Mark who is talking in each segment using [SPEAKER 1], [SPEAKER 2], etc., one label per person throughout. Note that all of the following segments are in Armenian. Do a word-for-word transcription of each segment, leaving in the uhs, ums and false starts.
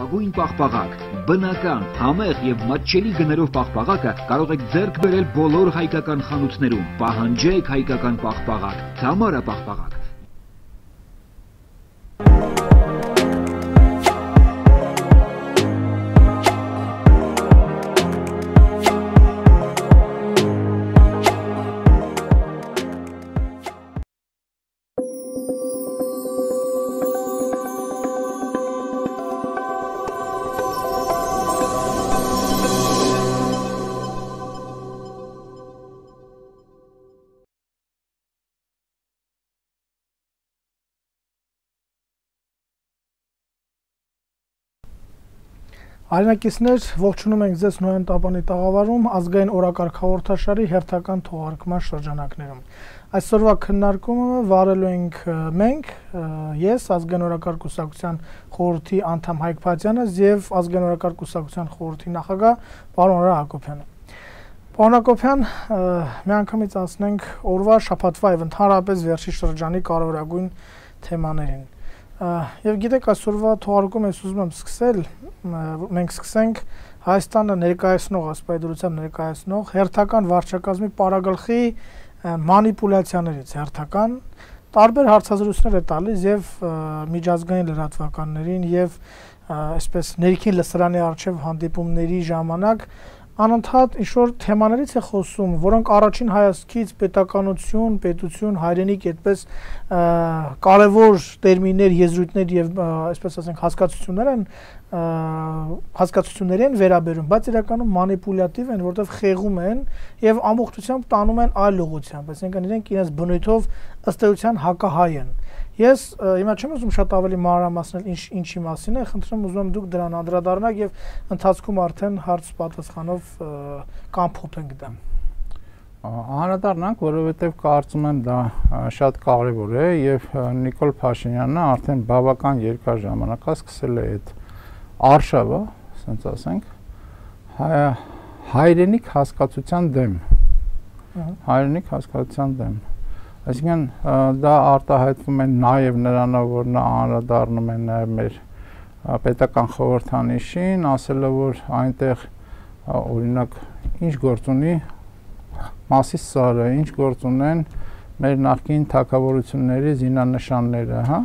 [SPEAKER 1] լավագույն պաղպաղակ, բնական, համեղ եւ մատչելի գներով պաղպաղակը կարող եք ձեռք բերել բոլոր հայկական խանութներում։ Պահանջեք հայկական պաղպաղակ, Թամարա պաղպաղակ։
[SPEAKER 2] Հայրենակիցներ, ողջունում ենք ձեզ Նոյեն Տապանի տաղավարում ազգային օրակարգ հաղորդաշարի հերթական թողարկման շրջանակներում։ Այսօրվա քննարկումը վարելու ենք մենք, ես, ազգային օրակարգ կուսակցության խորհրդի անդամ Հայկ Փաթյանը եւ ազգային օրակարգ կուսակցության խորհրդի նախագահ պարոն Արա Հակոբյանը։ Պարոն Հակոբյան, միանգամից անցնենք օրվա շաբաթվա եւ ընդհանրապես վերջի շրջանի կարևորագույն թեմաներին։ Եվ գիտեք, այսօրվա թողարկումը ես ուզում եմ սկսել, մենք սկսենք Հայաստանը ներկայացնող, ասպայդրությամբ ներկայացնող հերթական վարչակազմի պարագլխի մանիպուլյացիաներից, հերթական տարբեր հարցազրույցներ է տալիս եւ միջազգային լրատվականներին եւ այսպես ներքին լսարանի առջեւ հանդիպումների ժամանակ անընդհատ ինչ-որ թեմաներից է խոսում, որոնք առաջին հայացքից պետականություն, պետություն, հայրենիք այդպես կարևոր տերմիններ, եզրույթներ եւ այսպես ասենք հասկացություններ են հասկացություններ են վերաբերում, բայց իրականում մանիպուլյատիվ են, որտեղ խեղում են եւ ամբողջությամբ տանում են այլ ուղղությամբ, այսինքն իրենք իրենց բնույթով ըստ էության հակահայ են։ Ես հիմա չեմ ուզում շատ ավելի մանրամասնել ինչ ինչի մասին է, խնդրում ուզում եմ դուք դրան անդրադառնաք եւ ընթացքում արդեն հարց պատասխանով կամփոփենք դա։
[SPEAKER 3] Անդրադառնանք, որովհետեւ կարծում եմ դա շատ կարեւոր է եւ Նիկոլ Փաշինյանը արդեն բավական երկար ժամանակ է սկսել է այդ արշավը, ասենք ասենք, հայրենիք հասկացության դեմ։ Հայրենիք հասկացության դեմ։ Այսինքն դա արտահայտվում է նաև նրանով, որ նա անդրադառնում է նաև մեր պետական խորհրդանիշին, ասելով, որ այնտեղ օրինակ ինչ գործ ունի Մասիս Սարը, ինչ գործ ունեն մեր նախկին թագավորությունների զինանշանները, հա,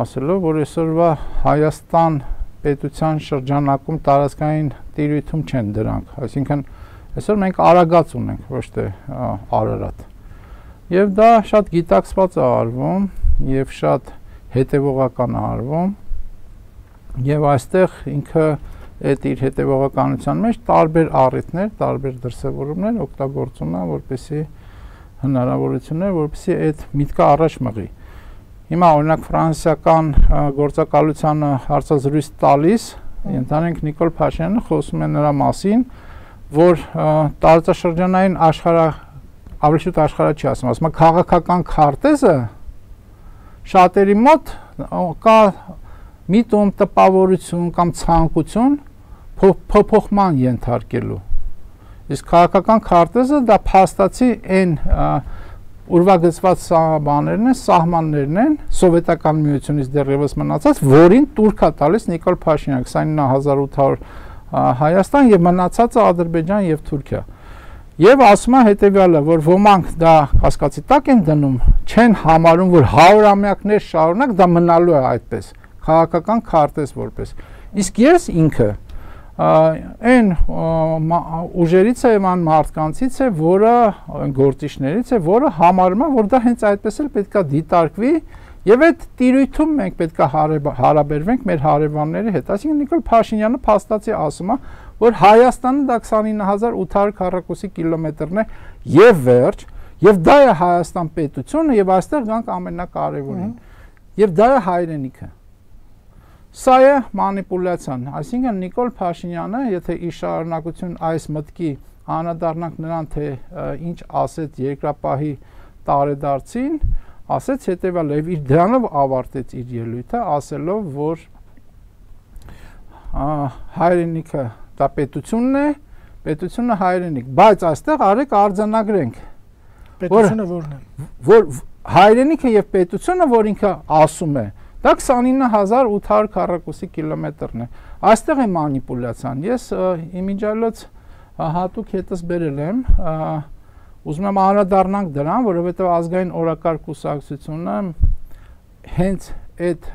[SPEAKER 3] ասելով, որ այսօրվա Հայաստան պետության շրջանակում տարածքային տիրույթում չեն դրանք, այսինքն այսօր մենք Արագած ունենք, ոչ թե Արարատ։ Եվ դա շատ գիտակցված է արվում եւ շատ հետեւողական է արվում եւ այստեղ ինքը այդ իր հետեւողականության մեջ տարբեր առիթներ, տարբեր դրսևորումներ օգտագործում է, որպեսզի հնարավորություններ, որպեսզի այդ միտքը առաջ մղի։ Հիմա օրինակ ֆրանսիական գործակալությանը հարցազրույց տալիս, ընդհանրենք Նիկոլ Փաշինյանը խոսում է նրա մասին, որ տարածաշրջանային աշխարհ ավելի շուտ աշխարհը չի ասում, ասում է քաղաքական քարտեզը շատերի մոտ կա միտում տպավորություն կամ ցանկություն փոփոխման ենթարկելու։ Իսկ քաղաքական քարտեզը դա փաստացի այն ուրվագծված բաներն են, սահմաններն են սովետական միությունից դեռևս մնացած, որին տուրք է տալիս Նիկոլ Փաշինյանը քսանինը հազար ութ հարյուր Հայաստան եւ մնացածը Ադրբեջան եւ Թուրքիա։ Եվ ասում է հետևյալը, որ ոմանք դա կասկածի տակ են դնում, չեն համարում, որ հարյուրամյակներ շարունակ դա մնալու է այդպես, քաղաքական քարտեզ որպես։ Իսկ ես ինքը այն ուժերից է, այն մարդկանցից է, որը գործիչներից է, որը համարում է, որ դա հենց այդպես էլ պետք է դիտարկվի եւ այդ տիրույթում մենք պետք է հարաբերվենք մեր հարևանների հետ։ Այսինքն Նիկոլ Փաշինյանը փաստացի ասում է, որ Հայաստանը դա քսանինը հազար ութ հարյուր քառակուսի կիլոմետրն է եւ վերջ, եւ դա է Հայաստան պետությունը եւ այստեղ գանք ամենակարևորին։ Եվ դա է հայրենիքը։ Սա է մանիպուլյացիան, այսինքն Նիկոլ Փաշինյանը, եթե ի շարունակություն այս մտքի անդրադառնանք նրան, թե ինչ ասեց երկրապահի տարեդարձին, ասեց հետևյալը եւ իր դրանով ավարտեց իր ելույթը, ասելով, որ հայրենիքը դա պետությունն է, պետությունը հայրենիք, բայց այստեղ արեք արձանագրենք։
[SPEAKER 2] Պետությունը որն է։
[SPEAKER 3] Որ հայրենիքը եւ պետությունը, որ ինքը ասում է, Դա քսանինը հազար ութ հարյուր քառակուսի կիլոմետրն է։ Այստեղ է մանիպուլյացիան։ Ես իմիջիալոց հատուկ հետս բերել եմ, ուզում եմ անդրադառնանք դրան, որովհետև ազգային օրակարգ կուսակցությունը հենց այդ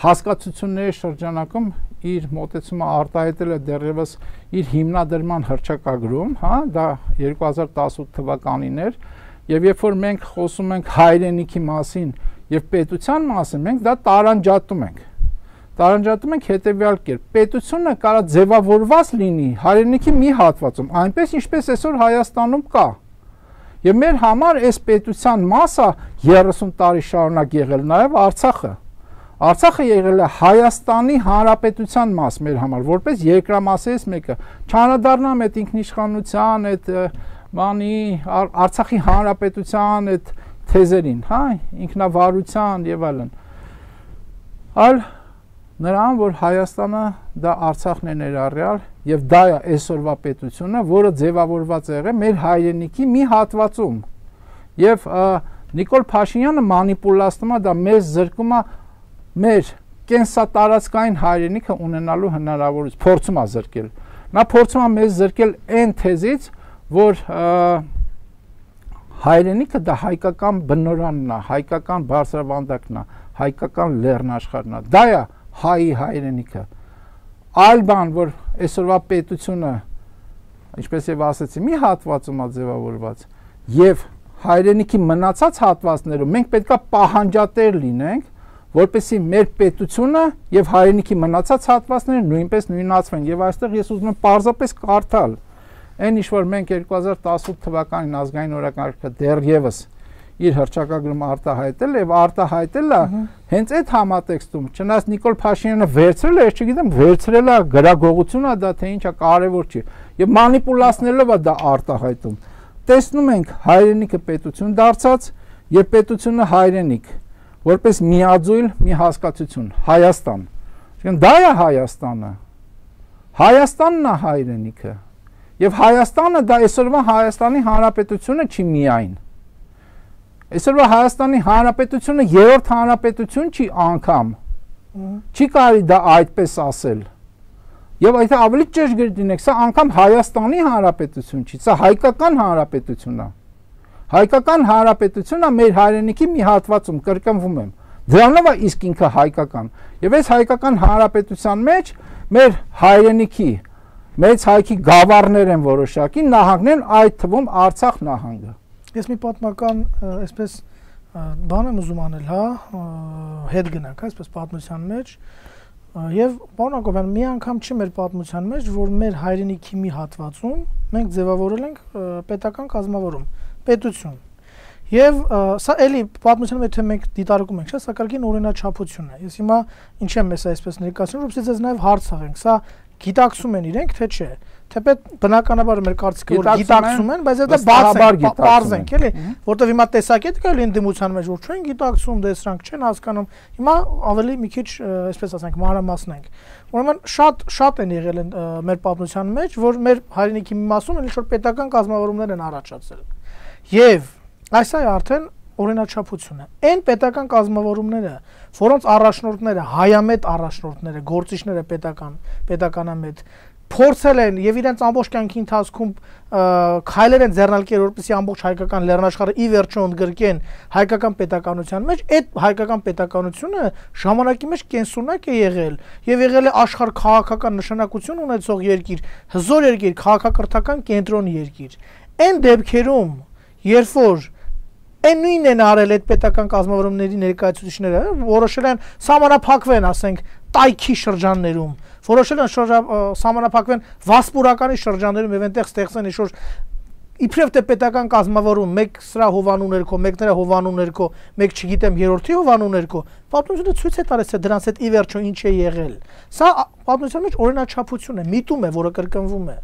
[SPEAKER 3] հասկացությունների շրջանակում իր մոտեցումը արտահայտել է դեռևս իր հիմնադրման հռչակագրում, հա, դա երկու հազար տասնութ թվականին էր, եւ երբ որ մենք խոսում ենք հայրենիքի մասին եւ պետության մասին, մենք դա տարանջատում ենք։ Տարանջատում ենք հետեւյալ կերպ. պետությունը կարա ձևավորված լինի հայրենիքի մի հատվածում, այնպես ինչպես այսօր Հայաստանում կա։ Եվ մեր համար այս պետության մասը երեսուն տարի շարունակ եղել նաեւ Արցախը։ Արցախը եղել է Հայաստանի Հանրապետության մաս մեր համար, որպես երկրամասերից մեկը։ Չանդրադառնամ այդ ինքնիշխանության, այդ բանի Արցախի Հանրապետության այդ թեզերին, հա, ինքնավարության եւ այլն։ Այլ նրան, որ Հայաստանը դա Արցախն է ներառյալ եւ դա է այսօրվա պետությունը, որը ձևավորված է եղել մեր հայրենիքի մի հատվածում։ Եվ Նիկոլ Փաշինյանը մանիպուլացնում է, դա մեզ զրկում է մեր կենսատարածքային հայրենիքը ունենալու հնարավորություն, փորձում է զրկել։ Նա փորձում է մեզ զրկել այն թեզից, որ հայրենիքը դա հայկական բնորանն է, հայկական բարձրավանդակն է, հայկական լեռնաշխարհն է։ Դա է հայի հայրենիքը։ Այլ բան, որ այսօրվա պետությունը, ինչպես եւ ասացի, մի հատվածում է ձևավորված, եւ հայրենիքի մնացած հատվածներում մենք պետքա պահանջատեր լինենք, որպեսզի մեր պետությունը եւ հայրենիքի մնացած հատվածները նույնպես նույնացվեն։ Եվ այստեղ ես ուզում եմ պարզապես կարդալ այն ինչ որ մենք երկու հազար տասնութ թվականին ազգային օրակարգը դեռևս իր հռչակագրում արտահայտել եւ արտահայտել է հենց այդ համատեքստում, չնայած Նիկոլ Փաշինյանը վերցրել է, ես չգիտեմ, վերցրել է գրագողություն է դա թե ինչա, կարևոր չի։ Եվ մանիպուլացնելով է դա արտահայտում։ Տեսնում ենք հայրենիքը պետություն դարձած եւ պետությունը հայրենիք, որպես միաձույլ մի հասկացություն, Հայաստան։ Այսինքն դա է Հայաստանը։ Հայաստանն է հայրենիքը։ Եվ Հայաստանը դա այսօրվա Հայաստանի Հանրապետությունը չի միայն։ Այսօրվա Հայաստանի Հանրապետությունը երրորդ հանրապետություն չի անգամ։ Չի կարելի դա այդպես ասել։ Եվ այդ ավելի ճշգրիտ լինեք, սա անգամ Հայաստանի Հանրապետություն չի, սա հայկական հանրապետություն է։ Հայկական հանրապետությունը մեր հայրենիքի մի հատվածում, կրկնվում եմ, դրանով է իսկ ինքը հայկական։ Եվ այս հայկական հանրապետության մեջ մեր հայրենիքի, մեծ հայքի գավառներ են որոշակի, նահանգներ, այդ թվում Արցախ նահանգը։
[SPEAKER 2] Ես մի պատմական, այսպես բան եմ ուզում անել, հա, հետ գնանք, այսպես պատմության մեջ, եւ պարոն Հակոբյան, մի անգամ չի մեր պատմության մեջ, որ մեր հայրենիքի մի հատվածում մենք ձևավորել ենք պետական կազմավորում, պետություն։ Եվ սա էլի պատմության մեջ թե մենք դիտարկում ենք, սա կարգին օրինաչափություն է։ Ես հիմա ինչ եմ ես այսպես ներկայացնում, որովհետեւ ձեզ նաեւ հարց աղենք, սա գիտակցում են իրենք, թե չէ։ Թեպետ բնականաբար մեր կարծիքը որ գիտակցում են, բայց դա բարձ ենք, էլի, որտեվ հիմա տեսակետ կա լինի դիմության մեջ, որ չեն գիտակցում, դեսրանք չեն հասկանում։ Հիմա ավելի մի քիչ, այսպես ասենք, մանրամասնենք։ Ուրեմն շատ շատ են եղել մեր պատմության մեջ, որ մեր հայրենիքի մի մասում ինչ որ պետական կազմավորումներ են առաջացել։ Եվ այս է արդեն օրինաչափություն է։ Այն պետական կազմավորումները, որոնց առաջնորդները, հայամետ առաջնորդները, գործիչները պետական, պետականամետ փորձել են եւ իրենց ամբողջ կյանքի ընթացքում քայլեր են ձեռնարկել, որպեսզի ամբողջ հայկական լեռնաշխարհը ի վերջո ընդգրկեն հայկական պետականության մեջ, այդ հայկական պետականությունը ժամանակի մեջ կենսունակ է եղել եւ եղել է աշխարհ քաղաքական նշանակություն ունեցող երկիր, հզոր երկիր, քաղաքակրթական կենտրոն երկիր։ Այն դեպքերում, երբ որ այն նույնն են արել այդ պետական կազմավորումների ներկայացուցիչները, որոշել են սահմանափակվեն, ասենք, տայքի շրջաններում, որոշել են սահմանափակվեն վասպուրականի շրջաններում եւ այնտեղ ստեղծեն ինչ-որ իբրև թե պետական կազմավորում, մեկ սրա հովանու ներքո, մեկ նրա հովանու ներքո, մեկ չգիտեմ երրորդի հովանու ներքո, պատմությունը ցույց է տալիս, թե դրանց հետ ի վերջո ինչ է եղել։ Սա պատմության մեջ օրինաչափություն է, միտում է, որը կրկնվում է։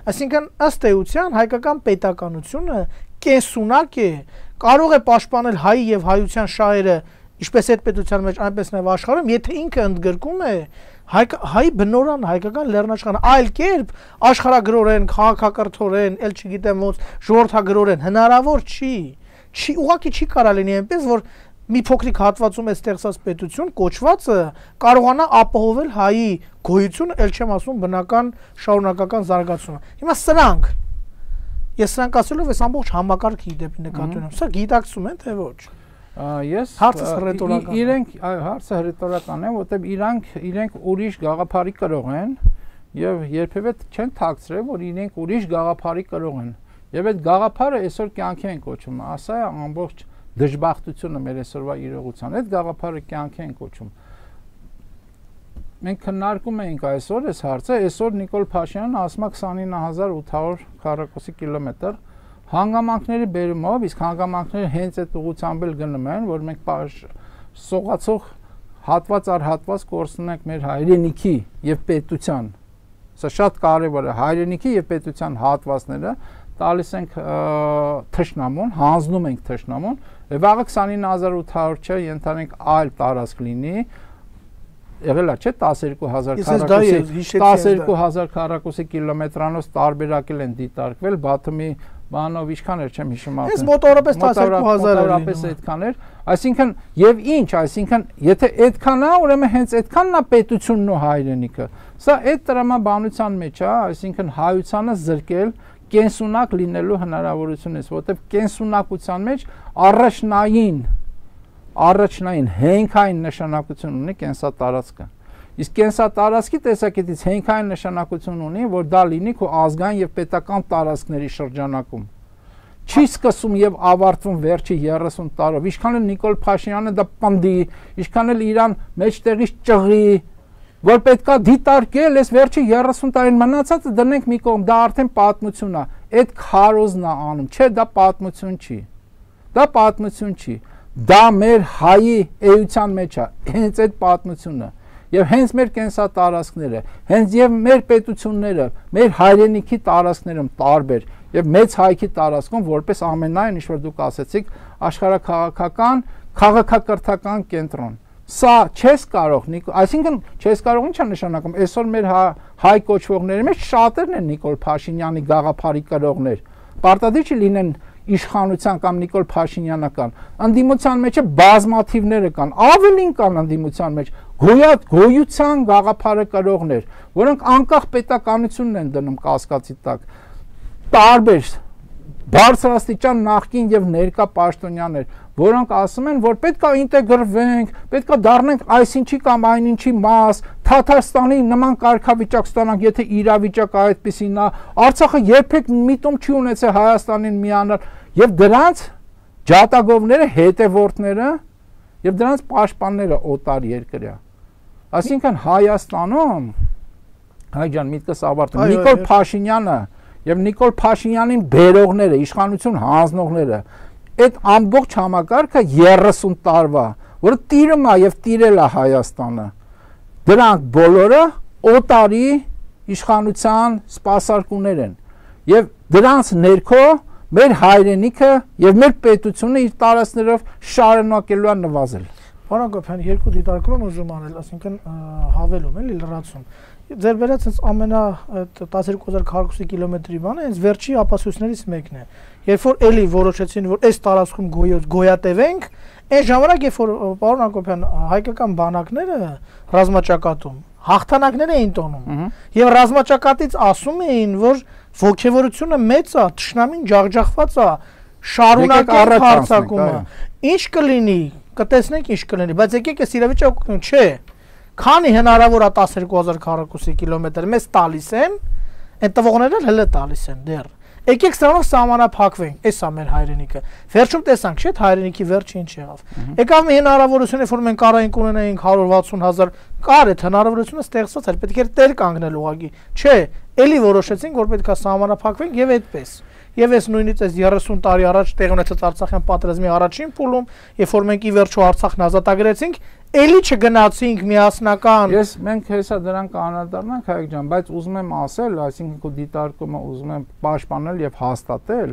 [SPEAKER 2] Այսինքն ըստ էության հայկական պետականությունը կենսունակ է, կարող է պաշտպանել հայի եւ հայության շահերը, ինչպես այդ պետության մեջ, այնպես նաեւ աշխարհում, եթե ինքը ընդգրկում է հայ բնորան հայկական լեռնաշխարհը, այլ կերպ աշխարհագրորեն, քաղաքակրթորեն, ել չգիտեմ ոնց ժողովրդագրորեն հնարավոր չի։ Չի ուղղակի չի կարա լինի այնպես, որ մի փոքրիկ հատվածում է ստեղծած պետություն կոչվածը կարողանա ապահովել հայի գոյությունը, ել չեմ ասում բնական շարունակական զարգացումը։ Հիմա սրանք ես սրանք ասելով ես ամբողջ համակարգի դեպի նկատի ունեմ։ Սա գիտակցում են թե ոչ։
[SPEAKER 3] Ես
[SPEAKER 2] հարցը հռետորական է։
[SPEAKER 3] Իրենք հարցը հռետորական է, որտեղ իրանք իրենք ուրիշ գաղափարի կրող են եւ երբևէ չեն թաքցրել, որ իրենք ուրիշ գաղափարի կրող են։ Եվ այդ գաղափարը այսօր կյանքի են կոչում, ասա է ամբողջ դժբախտությունը մեր այսօրվա իրողության, այդ գաղափարը կյանքի են կոչում։ Մենք քննարկում էինք այսօր այս հարցը, այսօր Նիկոլ Փաշինյանը ասում է քսանինը հազար ութ հարյուր քառակուսի կիլոմետր հանգամանքների բերումով, իսկ հանգամանքները հենց այդ ուղղությամբ էլ գնում են, որ մենք սողացող հատված առ հատված կորցնում ենք մեր հայրենիքի եւ պետության։ Սա շատ կարևոր է, հայրենիքի եւ պետության հատվածները տալիս ենք թշնամուն, հանձնում ենք թշնամուն, վաղը քսանինը հազար ութ հարյուր չէ, ենթանենք այլ տարածք լինի, եղել է չէ տասնյոթ հազար քառակուսի տասնյոթ հազար քառակուսի կիլոմետրանոց տարբերակել են դիտարկվել, Բաթումի բանով ինչքան էր, չեմ հիշում արդեն։
[SPEAKER 2] Այս մոտավորապես տասնյոթ հազար էր
[SPEAKER 3] մոտավորապես այդքան էր, այսինքն եւ ինչ, այսինքն եթե այդքան է, ուրեմն հենց այդքանն է պետությունն ու հայրենիքը։ Սա այդ տրամաբանության մեջ է, այսինքն հայությանը զրկել կենսունակ լինելու հնարավորություն է, որտեղ կենսունակության մեջ առաջնային առաջնային հենքային նշանակություն ունի կենսատարածքը։ Իսկ կենսատարածքի տեսակետից հենքային նշանակություն ունի, որ դա լինի քո ազգային եւ պետական տարածքների շրջանակում։ Չի սկսում եւ ավարտվում վերջի երեսուն տարով։ Ինչքան էլ Նիկոլ Փաշինյանը դա պնդի, ինչքան էլ իրան մեջտեղից ճղի, որ պետքա դիտարկել, այս վերջի երեսուն տարին մնացածը դնենք մի կողմ, դա արդեն պատմություն է։ Այդ քարոզն է անում, չէ, դա պատմություն չի։ Դա պատմություն չի։ Դա մեր հայի էության մեջ է, հենց այդ պատմությունը։ Եվ հենց մեր կենսատարածքները, հենց եւ մեր պետությունները, մեր հայրենիքի տարածքներում տարբեր եւ մեծ հայքի տարածքում որպես ամենայն ինչ որ դուք ասեցիք, աշխարհաքաղաքական, քաղաքակրթական կենտրոն։ Սա չես կարող, այսինքն չես կարող ինչ է նշանակում, այսօր մեր հայ կոչվողների մեջ շատերն են Նիկոլ Փաշինյանի գաղափարի կրողներ։ Պարտադիր չի լինեն իշխանության կամ Նիկոլ Փաշինյանական, ընդդիմության մեջ բազմաթիվները կան, ավելին կան ընդդիմության մեջ, գոյատ գոյության գաղափարը կրողներ, որոնք անկախ պետականությունն են դնում կասկածի տակ, տարբեր բարձրաստիճան նախկին եւ ներկա պաշտոնյաներ, որոնք ասում են, որ պետք է ինտեգրվենք, պետք է դառնանք այսինչի կամ այնինչի մաս, Թաթարստանի նման կարգավիճակ ստանանք, եթե իրավիճակը այդպեսին է, Արցախը երբեք միտում չի ունեցել Հայաստանին միանալ, եւ դրանց ջատագովները, հետևորդները եւ դրանց պաշտպանները օտար երկրյա։ Այսինքն Հայաստանում, հայ ջան, միտքս ավարտում, Նիկոլ Փաշինյանը եւ Նիկոլ Փաշինյանին բերողները, իշխանություն հանձնողները, այդ ամբողջ համակարգը երեսուն տարվա, որը տիրում է եւ տիրել է Հայաստանը, դրանք բոլորը օտարի իշխանության սպասարկուներ են եւ դրանց ներքո մեր հայրենիքը եւ մեր պետությունը իր տարածքներով շարունակելու է նվազել։
[SPEAKER 2] Պարոն Գոփյան, երկու դիտարկում եմ ուզում անել, ասինքն հավելում էլի լրացում։ Ձեր վերած հենց ամենա տասնյոթ հազար քառակուսի կիլոմետրի բանը հենց վերջի ապացույցներից մեկն է։ Երբ որ էլի որոշեցին, որ այս տարածքում գոյատևենք, այն ժամանակ, երբ որ պարոն Հակոբյան, հայկական բանակները ռազմաճակատում հաղթանակներ էին տոնում եւ ռազմաճակատից ասում էին, որ ողջևորությունը մեծ է, թշնամին ջախջախված է, շարունակել հարձակումը։ Ինչ կլինի, կտեսնենք ինչ կլինի, բայց եկեք այս իրավիճակը չէ։ Քանի հնարավոր է տասնյոթ հազար քառակուսի կիլոմետր մեզ տալիս են, այդ տվողները հələ տալիս են դեռ։ Եկեք սրանով սահմանափակվենք, էս է մեր հայրենիքը։ Վերջում տեսանք, չէ՞, հայրենիքի վերջը ինչ եղավ։ Եկավ մի հնարավորություն, որ մենք կարայինք ունենայինք հարյուր վաթսուն հազար, կար այդ հնարավորությունը ստեղծված էր, պետք էր տեր կանգնել ուղղակի։ Չէ, էլի որոշեցինք, որ պետք է սահմանափակվենք եւ այդպես։ Եվ այս նույնից այս երեսուն տարի առաջ տեղ ունեցած Արցախյան պատերազմի առաջին փուլում, երբ որ մենք ի վերջո Արցախն ազատագրեցինք, էլի չգնացինք միասնական։
[SPEAKER 3] Ես մենք հեսա դրան կանադառնանք հայք ջան, բայց ուզում եմ ասել, այսինքն քո դիտարկումը ուզում եմ պաշտպանել եւ հաստատել,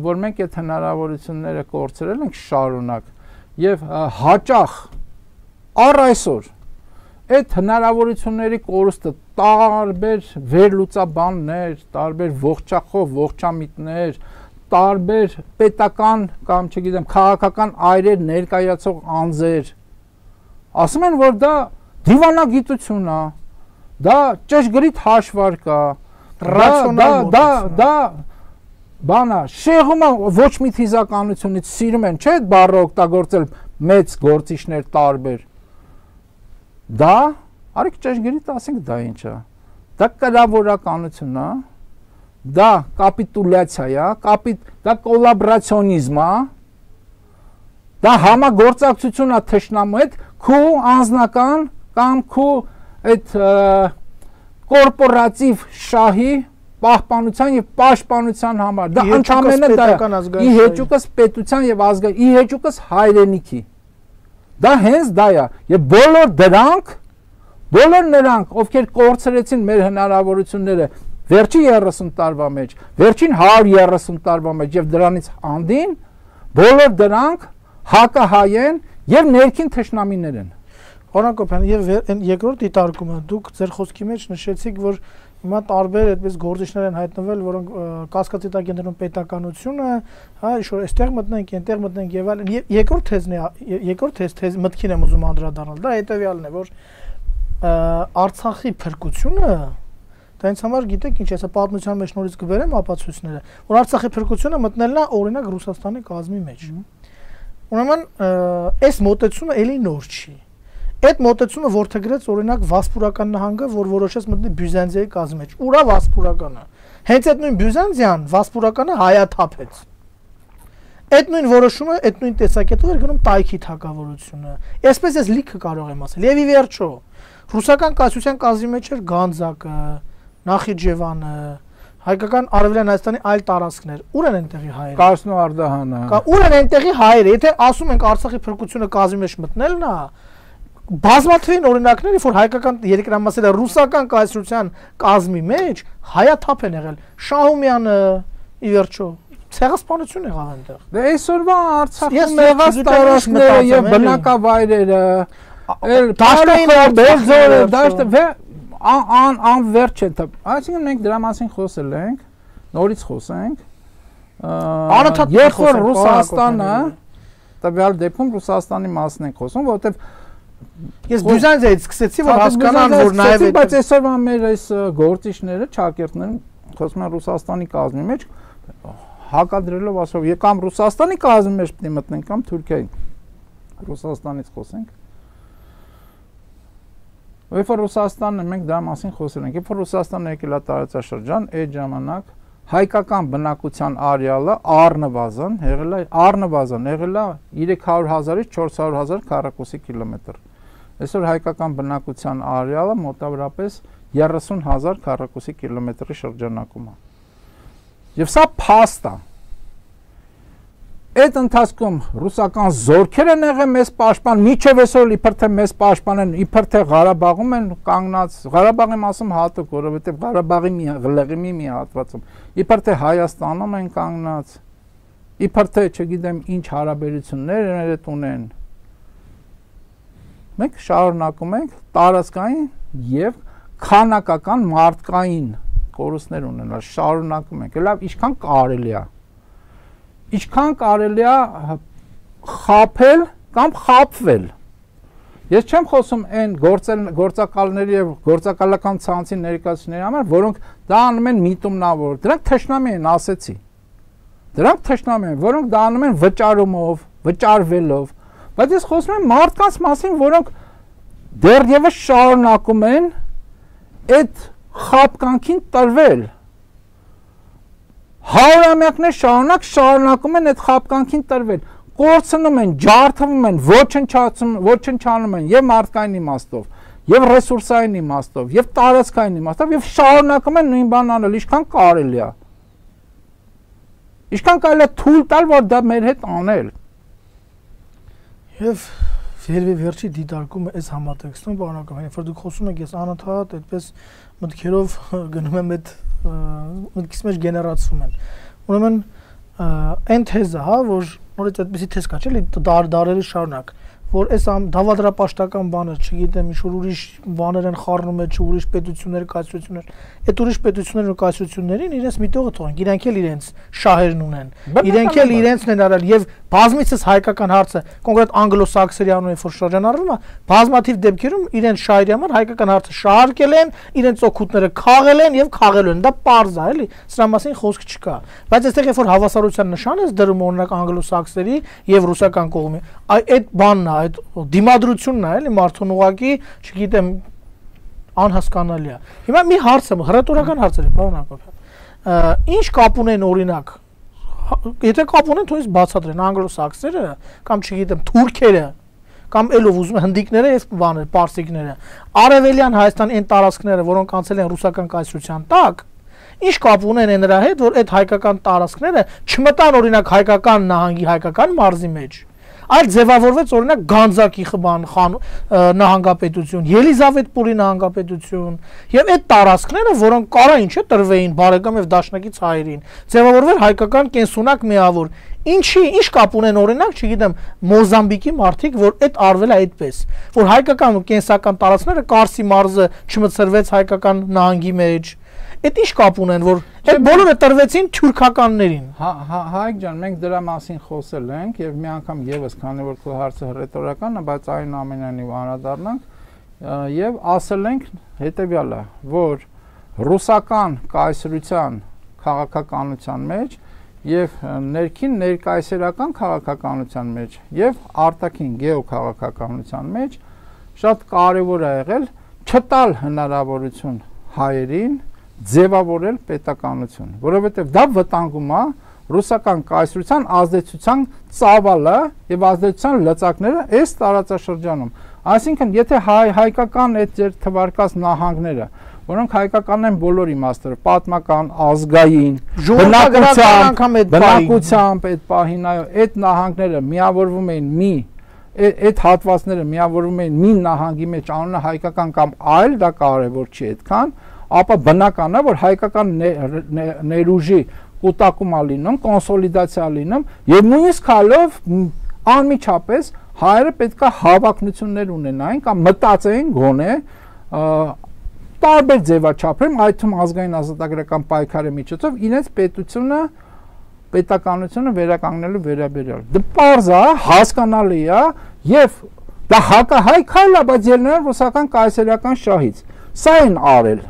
[SPEAKER 3] որ մենք այդ հնարավորությունները կորցրել ենք շարունակ եւ հաճախ առ այսօր այդ հնարավորությունների կորուստը տարբեր վերլուծաբաններ, տարբեր ողջախով, ողջամիտներ, տարբեր պետական կամ չգիտեմ քաղաքական այրեր ներկայացող անձեր ասում են որ դա դիվանագիտություն է, դա ճշգրիտ հաշվարկ է, դա դա դա բանա շեղումը ոչ մի թիզականությունից սիրում են, չէ՞ բառը օգտագործել մեծ գործիչներ տարբեր։ Դա արեք ճշգրիտ ասենք դա ինչ է։ Դա կրավորականություն է, դա կապիտուլյացիա է, կապիտ դա կոլաբորացիոնիզմ է, դա համագործակցություն է թշնամու հետ քու անձնական կամ քու այդ կորպորատիվ շահի պահպանության եւ պաշտպանության համար դա ընդհանրապես դա է ի հեճուկս պետության եւ ազգային ի հեճուկս հայրենիքի դա հենց դա է եւ բոլոր դրանք բոլոր նրանք ովքեր կորցրեցին մեր հնարավորությունները վերջին երեսուն տարվա մեջ վերջին հարյուր երեսուն տարվա մեջ եւ դրանից անդին բոլոր դրանք հակահայ են եւ ներքին թշնամիներ են
[SPEAKER 2] Օրանկոպյան եւ երկրորդ դիտարկումը դուք ձեր խոսքի մեջ նշեցիք որ հիմա տարբեր այդպես գործիչներ են հայտնվել որոնք կասկածի տակ են դնում պետականությունը հա ինչ-որ այստեղ մտնենք այնտեղ մտնենք եւ այլն երկրորդ թեզն է երկրորդ թեզ թեզ մտքին եմ ուզում անդրադառնալ դա հետեւյալն է որ Արցախի փրկությունը դա ինձ համար գիտեք ինչ էսա պատմության մեջ նորից կբերեմ ապացույցները որ Արցախի փրկությունը մտնելն է օրինակ Ռուսաստանի կազմի մեջ ուրեմն այս մոտեցումը էլի նոր չի Այդ մոտեցումը որդեգրեց օրինակ Վասպուրական նահանգը, որ որոշեց մտնել Բյուզանդիայի կազմի մեջ։ Ուրա Վասպուրականը։ Հենց այդ նույն Բյուզանդիան Վասպուրականը հայաթափեց։ Այդ նույն որոշումը, այդ նույն տեսակետով էր գնում Տայքի թագավորությունը։ Այսպես ես լիքը կարող եմ ասել։ Եվ ի վերջո, ռուսական կայսրության կազմի մեջ էր Գանձակը, Նախիջևանը, հայկական Արևելյան Հայաստանի այլ տարածքներ։ Ուր են այնտեղի հայերը։
[SPEAKER 3] Կարսնո Արդահանը։
[SPEAKER 2] Ուր են այնտեղի հայերը։ Եթե ասում ենք Արցախի փրկությունը կազմի մեջ մտնելն է, Բազմաթիվ օրինակներ, որ հայկական երկրամասերը ռուսական կայսրության կազմի մեջ հայաթափ են եղել։ Շահումյանը ի վերջո ցեղասպանություն եղավ այնտեղ։
[SPEAKER 3] Դե այսօրվա Արցախում եղած տարածքները եւ բնակավայրերը, էլ դաշտային բերձորը, դաշտը ան անverջ են։ Այսինքն մենք դրա մասին խոսել ենք, նորից խոսենք։ Երբ որ Ռուսաստանը, տվյալ դեպքում Ռուսաստանի մասն ենք խոսում, որովհետեւ
[SPEAKER 2] Ես Բյուզանդիայից սկսեցի որ հասկանան որ նաև այդ
[SPEAKER 3] բայց այսօրվա մեր այս գործիչները, ճակերտները խոսում են Ռուսաստանի կազմի մեջ հակադրելով ասով եկամ Ռուսաստանի կազմի մեջ պետք է մտնենք կամ Թուրքիայի Ռուսաստանից խոսենք Երբ որ Ռուսաստանը մենք դրա մասին խոսել ենք, երբ որ Ռուսաստանը եկել է տարածաշրջան, այդ ժամանակ հայկական բնակության արեալը առնվազն եղել է առնվազն եղել է երեք հարյուր հազարից չորս հարյուր հազար քառակուսի կիլոմետր։ Այսօր հայկական բնակության արեալը մոտավորապես երեսուն հազար քառակուսի կիլոմետրի շրջանակում է։ Եվ սա փաստ է։ Այդ ընթացքում ռուսական զորքեր են եղել մեզ պաշտպան, միջև այսօր իբր թե մեզ պաշտպանեն, իբր թե Ղարաբաղում են կանգնած, Ղարաբաղի մասում հատուկ, որովհետև Ղարաբաղի մի Ղլեղիմի մի հատվածում, իբր թե Հայաստանում են կանգնած, իբր թե չգիտեմ ինչ հարաբերություններ են ունեն։ Մենք շարունակում ենք տարածքային եւ քանակական մարդկային կորուստներ ունենալ, շարունակում ենք, լավ, ինչքան կարելի է։ Ինչքան կարելի է խաբել կամ խաբվել։ Ես չեմ խոսում այն գործակալների եւ գործակալական ցանցի ներկայացուցիչների համար, որոնք դա անում են միտումնավոր։ Դրանք թշնամի են, ասեցի։ Դրանք թշնամի են, որոնք դա անում են վճարումով, վճարվելով։ Բայց ես խոսում եմ մարդկանց մասին, որոնք դեռևս շարունակում են այդ խաբկանքին տրվել։ Հարյուրամյակներ շարունակ շարունակում են այդ խաբկանքին տրվել, կորցնում են, ջարդվում են, ոչնչացում, ոչնչանում են եւ մարդկային իմաստով, եւ ռեսուրսային իմաստով, եւ տարածքային իմաստով, եւ շարունակում են նույն բանն անել, ինչքան կարելի է։ Ինչքան կարելի է թույլ տալ, որ դա մեր հետ անել։
[SPEAKER 2] Եվ վերջի վերջի դիտարկումը այս համատեքստում, բանական, երբ որ դուք խոսում եք, ես անընդհատ այդպես մտքերով գնում եմ այդ մտքիս մեջ գեներացվում են։ Ուրեմն այն թեզը, հա, որ նորից այդպեսի թեզ կա, չէ՞, դար դարերի շարունակ, որ այս դավադրապաշտական բանը, չգիտեմ, ինչ որ ուրիշ բաներ են խառնում է, չի ուրիշ պետություններ, կայսրություններ, այդ ուրիշ պետություններն ու կայսրություններին իրենց միտողը թողեն, իրենք էլ իրենց շահերն ունեն, իրենք էլ իրենցն են արել եւ բազմիցս հայկական հարցը, կոնկրետ անգլոսաքսերի անունով որ շրջանառվում է, բազմաթիվ դեպքերում իրենց շահերի համար հայկական հարցը շահարկել են, իրենց օգուտները խաղել են եւ խաղելու են, դա պարզ է, էլի, սրա մասին խոսք չկա, բայց այստեղ երբ որ հավասարության նշան է դրում օրինակ անգլոսաքսերի եւ ռուսական կողմի, այդ բանն է, այդ դիմադրությունն է, էլի, մարդուն ուղակի, չգիտեմ, անհասկանալի է։ Հիմա մի հարց է, հռետորական հարց է, պարոն Հակոբյան։ Ինչ կապ ունեն օրինակ, եթե կապ ունեն, թույս բացատրեն անգլոսաքսերը կամ չգիտեմ թուրքերը կամ ելով ուզում հնդիկները եւ բաներ, պարսիկները, արևելյան Հայաստան այն տարածքները, որոնք անցել են ռուսական կայսրության տակ, ինչ կապ ունեն նրա հետ, որ այդ հայկական տարածքները չմտան օրինակ հայկական նահանգի հայկական մարզի մեջ, այլ ձևավորվեց օրինակ Գանձակի խբան նահանգապետություն, Ելիզավետպուրի նահանգապետություն եւ այդ տարածքները, որոնք կարային չէ տրվեին բարեկամ եւ դաշնակից հայերին, ձևավորվել հայկական կենսունակ միավոր։ Ինչի, ինչ կապ ունեն օրինակ, չգիտեմ, Մոզամբիկի մարդիկ, որ այդ արվել է այդպես, որ հայկական ու կենսական տարածքները Կարսի մարզը չմտցրվեց հայկական նահանգի մեջ։ Այդ ինչ կապ ունեն, որ այդ բոլորը տրվեցին թուրքականներին։
[SPEAKER 3] Հայկ ջան, մենք դրա մասին խոսել ենք եւ մի անգամ եւս, քանի որ քո հարցը հռետորական է, բայց այնուամենայնիվ անդրադառնանք եւ ասել ենք հետեւյալը, որ ռուսական կայսրության քաղաքականության մեջ եւ ներքին ներկայսերական քաղաքականության մեջ եւ արտաքին գեոքաղաքականության մեջ շատ կարեւոր է եղել չտալ հնարավորություն հայերին ձևավորել պետականություն, որովհետև դա վտանգում է ռուսական կայսրության ազդեցության ծավալը եւ ազդեցության լծակները այս տարածաշրջանում։ Այսինքն, եթե հայ հայկական այդ ձեր թվարկած նահանգները, որոնք հայկական են բոլոր իմաստով, պատմական, ազգային, բնակության, բնակությամբ այդ պահին, այո, այդ նահանգները միավորվում էին մի այդ հատվածները միավորվում էին մի նահանգի մեջ անունը հայկական կամ այլ, դա կարևոր չի այդքան, ապա բնական է, որ հայկական ներուժի կուտակում է լինում, կոնսոլիդացիա լինում եւ նույնիսկ հալով անմիջապես հայերը պետք է հավակնություններ ունենային կամ մտածեին գոնե տարբեր ձևաչափերում, այդ թվում ազգային ազատագրական պայքարի միջոցով իրենց պետությունը պետականությունը վերականգնելու վերաբերյալ։ Դա պարզ է, հասկանալի է եւ դա հակահայ քայլ է, բայց ելնելով ռուսական կայսերական շահից։ Սա են արել։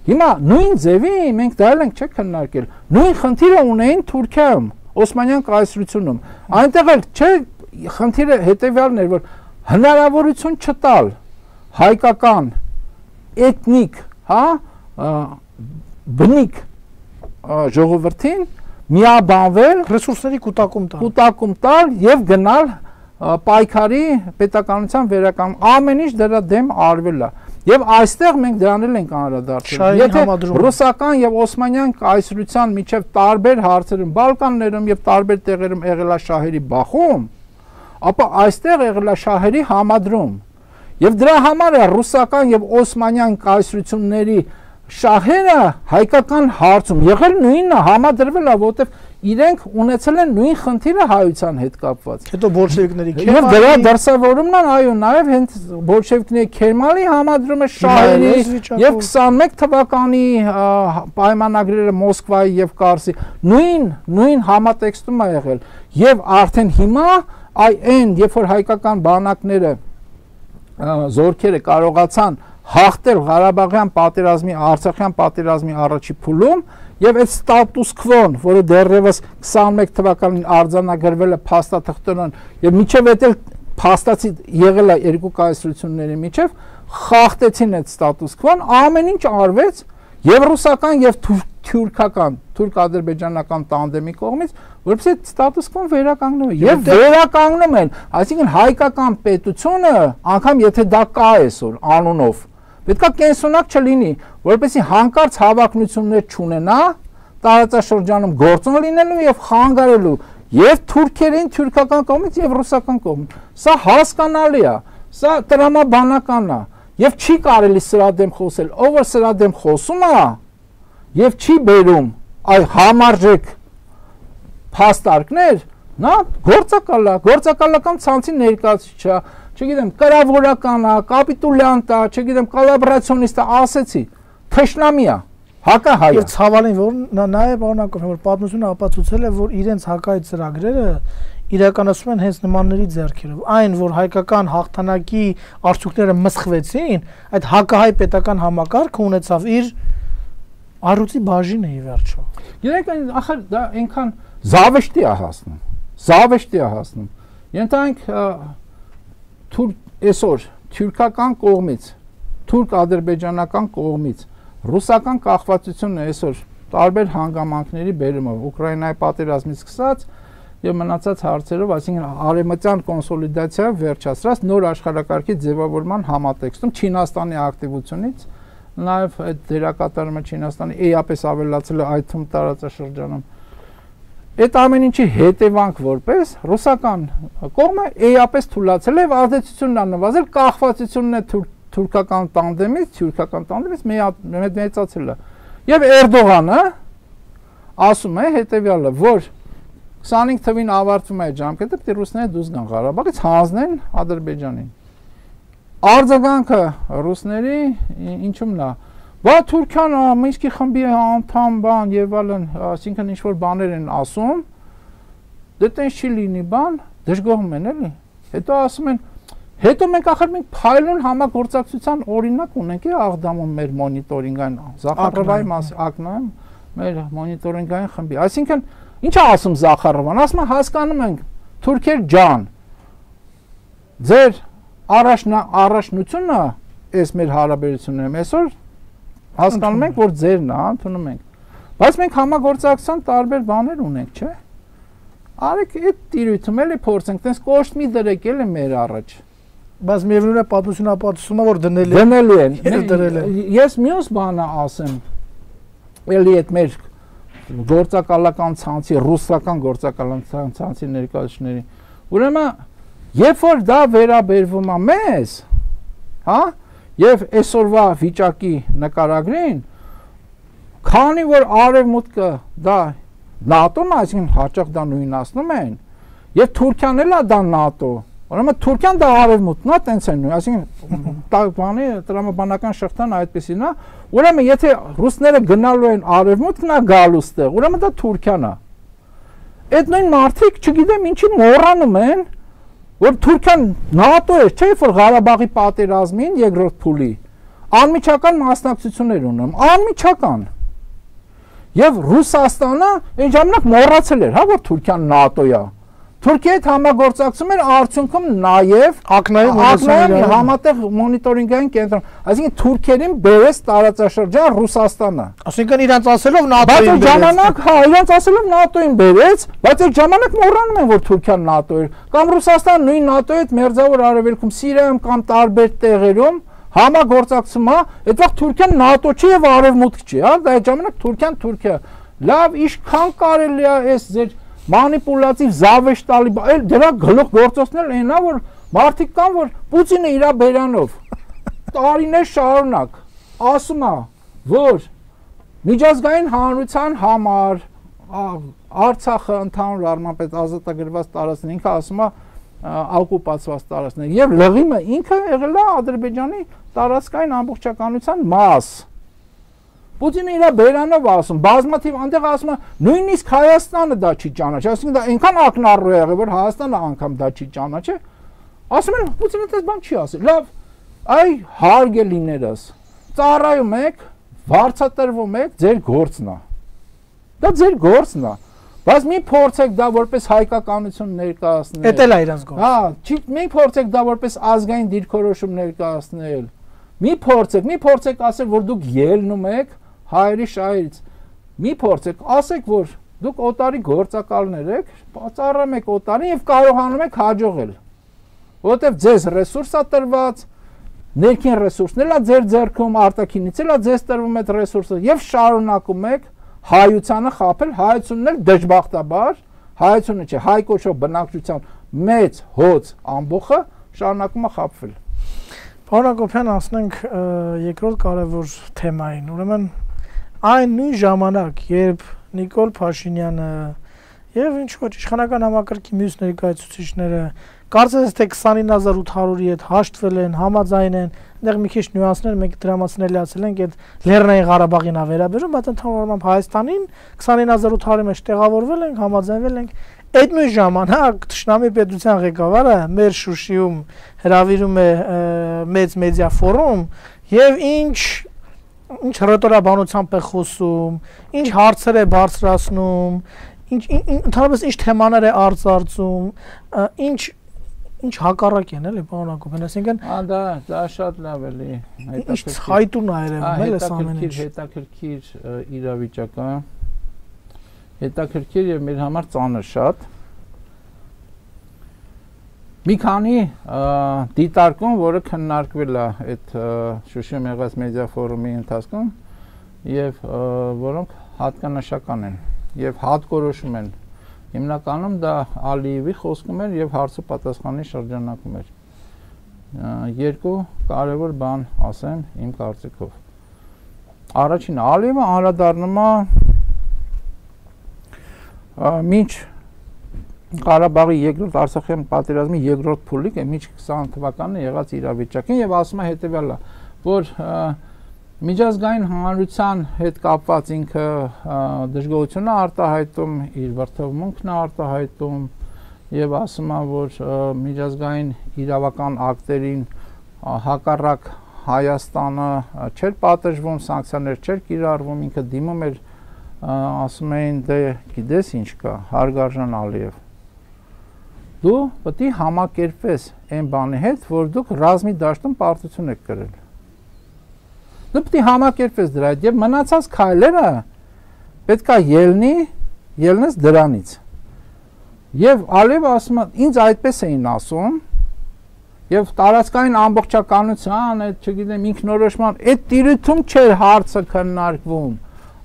[SPEAKER 3] Հիմա նույն ձևի մենք դա ենք չէ քննարկել։ Նույն խնդիրը ունեին Թուրքիայում, Օսմանյան կայսրությունում։ Այնտեղ էլ չէ խնդիրը հետեւյալն էր, որ հնարավորություն չտալ հայկական էթնիկ, հա, բնիկ ժողովրդին միաբանվել,
[SPEAKER 2] ռեսուրսների կուտակում տալ,
[SPEAKER 3] կուտակում տալ եւ գնալ պայքարի պետականության վերականգնման, ամեն ինչ դրա դեմ արվել է։ Եվ այստեղ մենք դրանել ենք անդրադարձել։ Եթե ռուսական եւ օսմանյան կայսրության միջև տարբեր հարցերում, Բալկաններում եւ տարբեր տեղերում եղել է շահերի բախում, ապա այստեղ եղել է շահերի համադրում։ Եվ դրա համար է ռուսական եւ օսմանյան կայսրությունների շահերը հայկական հարցում եղել նույնը, համադրվել է, որտեղ իրենք ունեցել են նույն խնդիրը հայության հետ կապված։
[SPEAKER 2] Հետո բոլշևիկների
[SPEAKER 3] Քերմալի եւ դրա դրսևորումն են, այո, նաեւ հենց բոլշևիկների Քերմալի համադրումը շահերի եւ քսանմեկ թվականի պայմանագրերը Մոսկվայի եւ Կարսի նույն նույն համատեքստում է եղել եւ արդեն հիմա այ այն երբ որ հայկական բանակները զորքերը կարողացան հաղթել Ղարաբաղյան պատերազմի, Արցախյան պատերազմի առաջի փուլում եւ այդ ստատուս քվոն, որը դեռևս քսանմեկ թվականին արձանագրվել է փաստաթղթերով եւ միջև էլ փաստացի եղել է երկու կայսրությունների միջև, խախտեցին այդ ստատուս քվոն, ամեն ինչ արվեց եւ ռուսական եւ թուրքական, թուրք-ադրբեջանական տանդեմի կողմից, որովհետեւ այդ ստատուս քվոն վերականգնում է եւ վերականգնում են, այսինքն հայկական պետությունը, անգամ եթե դա կա այսօր անունով պետք է կենսունակ չլինի, որպեսզի հանկարծ հավակնություններ չունենա տարածաշրջանում գործոն լինելու եւ խանգարելու եւ թուրքերին թուրքական կողմից եւ ռուսական կողմից։ Սա հասկանալի է, սա տրամաբանական է եւ չի կարելի սրա դեմ խոսել։ Ով որ սրա դեմ խոսում է եւ չի բերում այ համարժեք փաստարկներ, Նա գործակալ է, գործակալական ցանցի ներկայացուցիչ է, չգիտեմ, կրավորական է, կապիտուլյանտ է, չգիտեմ, կոլաբորացիոնիստ է, ասեցի, թշնամի է, հակահայ է։
[SPEAKER 2] Եվ ցավալին, որ նաև օրինակով, որ պատմությունը ապացուցել է, որ իրենց հակահայ ծրագրերը իրականացում են հենց նմանների ձեռքերով։ Այն, որ հայկական հաղթանակի արդյունքները մսխվեցին, այդ հակահայ պետական համակարգը ունեցավ իր առյուծի բաժինը ի վերջո։
[SPEAKER 3] Գիտեք, ախր դա այնքան զավեշտի է հասնում։ Զավեշտի է հասնում։ Ենթանք այսօր թուրքական կողմից, թուրք-ադրբեջանական կողմից ռուսական կախվածությունը այսօր տարբեր հանգամանքների բերումով Ուկրաինայի պատերազմից սկսած եւ մնացած հարցերով, այսինքն արևմտյան կոնսոլիդացիա վերջացրած նոր աշխարհակարգի ձևավորման համատեքստում Չինաստանի ակտիվությունից, նաեւ այդ դերակատարումը Չինաստանի էապես ավելացել է այդ թվում տարածաշրջանում։ Այդ ամեն ինչի հետևանք որպես ռուսական կողմը էապես թույլատրել է եւ ազդեցությունն աննվազել կախվածությունն է թուրքական տանդեմից, թուրքական տանդեմից մեծացել է։ Եվ Էրդողանը ասում է հետեւյալը, որ քսանհինգ թվին ավարտվում է այդ ժամկետը, պետք է ռուսները դուրս գան Ղարաբաղից, հանձնեն Ադրբեջանին։ Արձագանքը ռուսների ինչումն է։ Բա Թուրքիան Մինսկի խմբի անդամ բան եւ այլն, այսինքն ինչ որ բաներ են ասում, դե տենց չի լինի բան, դժգոհում են էլի։ Հետո ասում են, հետո մենք ախր մենք փայլուն համագործակցության օրինակ ունենք է Աղդամում մեր մոնիտորինգային Զախարովայի մաս ակնայում մեր մոնիտորինգային խմբի։ Այսինքն ինչ է ասում Զախարովան, ասում է հասկանում ենք թուրքեր ջան, ձեր առաջնա առաջնությունը այս մեր հարաբերություններում այսօր հասկանում ենք, որ ձերն է, ընդունում ենք։ Բայց մենք համագործակցության տարբեր բաներ ունենք, չէ՞։ Արեք այդ տիրույթում էլի փորձենք, տես կոշտ մի դրեք էլի մեր առաջ։
[SPEAKER 2] Բայց միևնույն է պատմությունը ապացուցում է, որ դնելի
[SPEAKER 3] դնելի են։ Ես մյուս բանը ասեմ, էլի այդ մեր գործակալական ցանցի, ռուսական գործակալական ցանցի ներկայացուցիչների։ Ուրեմն, երբ որ դա վերաբերվում է մեզ, հա, եւ այսօրվա վիճակի նկարագրին, քանի որ արևմուտքը դա ՆԱՏՕ-ն, այսինքն հաճախ դա նույնացնում են, եւ Թուրքիան էլ է դա ՆԱՏՕ, ուրեմն Թուրքիան դա արևմուտքն է, տենց են նույն, այսինքն բանի տրամաբանական շղթան այդպեսին է, ուրեմն եթե ռուսները գնալու են արևմուտքն է գալու ստեղ, ուրեմն դա Թուրքիան է։ Այդ նույն մարդիկ, չգիտեմ ինչի մոռանում են, որ Թուրքիան ՆԱՏՕ է, չէ՞ որ Ղարաբաղի պատերազմին երկրորդ փուլի անմիջական մասնակցություններ ունեմ, անմիջական։ Եվ Ռուսաստանը այն ժամանակ մոռացել էր, հա, որ Թուրքիան ՆԱՏՕ է։ Թուրքիայի հետ համագործակցում էր արդյունքում նաև ակնային համատեղ մոնիտորինգային կենտրոն, այսինքն թուրքերին բերեց տարածաշրջան Ռուսաստանը։
[SPEAKER 2] Այսինքն իրանց ասելով
[SPEAKER 3] ՆԱՏՕ-ին բերեց։ Բայց ժամանակ, հա, իրանց ասելով ՆԱՏՕ-ին բերեց, բայց այդ ժամանակ մոռանում են, որ Թուրքիան ՆԱՏՕ էր, կամ Ռուսաստանը նույն ՆԱՏՕ-ի հետ մերձավոր արևելքում, Սիրիայում կամ տարբեր տեղերում համագործակցում է, այդ վաղ Թուրքիան ՆԱՏՕ չի եւ արևմուտք չի, հա, դա այդ ժամանակ Թուրքիան Թուրքիա։ Լավ, ինչքան կարելի է այս ձեր մանիպուլատիվ զավեշտալի, այլ դրա գլուխ գործոցներ այնա, որ մարդիկ կան, որ Պուտինը իր բերանով տարիներ շարունակ ասում է, որ միջազգային հանրության համար Արցախը ընդհանուր առմամբ այդ ազատագրված տարածքն ինքը ասում է օկուպացված տարածքներ եւ Լղիմը ինքը եղել է Ադրբեջանի տարածքային ամբողջականության մաս։ Պուտինը իր բերանով ասում, բազմաթիվ այնտեղ ասում է, նույնիսկ Հայաստանը դա չի ճանաչի, այսինքն դա այնքան ակնառու է եղել, որ Հայաստանը անգամ դա չի ճանաչի։ Ասում են, Պուտինը դες բան չի ասել։ Լավ, այ հարգելիներս, ծառայում եք, վարձատրվում եք, ձեր գործն է։ Դա ձեր գործն է։ Բայց մի փորձեք դա որպես հայկականություն ներկայացնել։
[SPEAKER 2] Էդ էլ է իրանց գործը։
[SPEAKER 3] Հա, չի մի փորձեք դա որպես ազգային դիրքորոշում ներկայացնել։ Մի փորձեք, մի փորձեք ասել, որ դուք ելնում եք հայերի շահերից։ Մի փորձեք, ասեք, որ դուք օտարի գործակալներ եք, ծառայում եք օտարին եւ կարողանում եք հաջողել։ Որովհետեւ ձեզ ռեսուրս է տրված, ներքին ռեսուրսն էլ է ձեր ձեռքում, արտաքինից էլ է ձեզ տրվում այդ ռեսուրսը եւ շարունակում եք հայությանը խաբել, հայությունն էլ դժբախտաբար, հայությունը չէ, հայ կոչվող բնակչության մեծ հոծ ամբողջը շարունակում է խաբվել։
[SPEAKER 2] Պարոն Հակոբյան, ասենք երկրորդ կարևոր թեմային, ուրեմն այն նույն ժամանակ, երբ Նիկոլ Փաշինյանը Եվ ինչ ոչ իշխանական համակարգի մյուս ներկայացուցիչները կարծես թե քսանինը հազար ութ հարյուրի հետ հաշտվել են, համաձայն են, այնտեղ մի քիչ նյուանսներ մենք դրա մասին էլիացել ենք, այդ Լեռնային Ղարաբաղին ա վերաբերում, բայց ընդհանրապես Հայաստանին քսանինը հազար ութ հարյուրի մեջ տեղավորվել ենք, համաձայնվել ենք։ Այդ նույն ժամանակ Թշնամի պետության ղեկավարը մեր Շուշիում հրավիրում է մեծ մեդիա ֆորում եւ ինչ ինչ ռետորաբանությամբ է խոսում, ինչ հարցեր է բարձրացնում, ինչ ընդհանրապես ինչ թեմաներ է արծարծում, ինչ ինչ հակառակ են էլի պարոն Հակոբյան, այսինքն
[SPEAKER 3] Ա դա դա շատ լավ էլի,
[SPEAKER 2] հետաքրքիր։ Ինչ հայտուն ա երևում էլ էս ամեն ինչ։
[SPEAKER 3] Հետաքրքիր իրավիճակ է։ Հետաքրքիր եւ մեր համար ծանր շատ։ Մի քանի դիտարկում, որը քննարկվել է այդ Շուշիում եղած մեդիա ֆորումի ընթացքում եւ որոնք հատկանշական են եւ հատկորոշում են։ Հիմնականում դա Ալիևի խոսքում էր եւ հարցը պատասխանի շրջանակում էր։ Երկու կարևոր բան ասեմ իմ կարծիքով։ Առաջինը Ալիևը անդրադառնում է մինչ Ղարաբաղի երկրորդ Արցախյան պատերազմի երկրորդ փուլիկ է մինչ քսան թվականին եղած իրավիճակին եւ ասում է հետեւյալը, որ միջազգային հանրության հետ կապված ինքը դժգոհություն է արտահայտում, իր վրթովմունքն է արտահայտում եւ ասում է, որ միջազգային իրավական ակտերին հակառակ Հայաստանը չէր պատժվում, սանկցիաներ չէր կիրառվում, ինքը դիմում էր, ասում էին, դե գիտես ինչ կա, Հարգարժան Ալիև, դու պետք է համակերպվես այն բանի հետ, որ դուք ռազմի դաշտում պարտություն եք կրել։ Դու պետք է համակերպվես դրա հետ եւ մնացած քայլերը պետք է ելնի, ելնես դրանից։ Եվ Ալիևը ասում է, ինձ այդպես էին ասում, եւ տարածքային ամբողջականության, այդ չգիտեմ, ինքնորոշման, այդ տիրույթում չէր հարցը քննարկվում,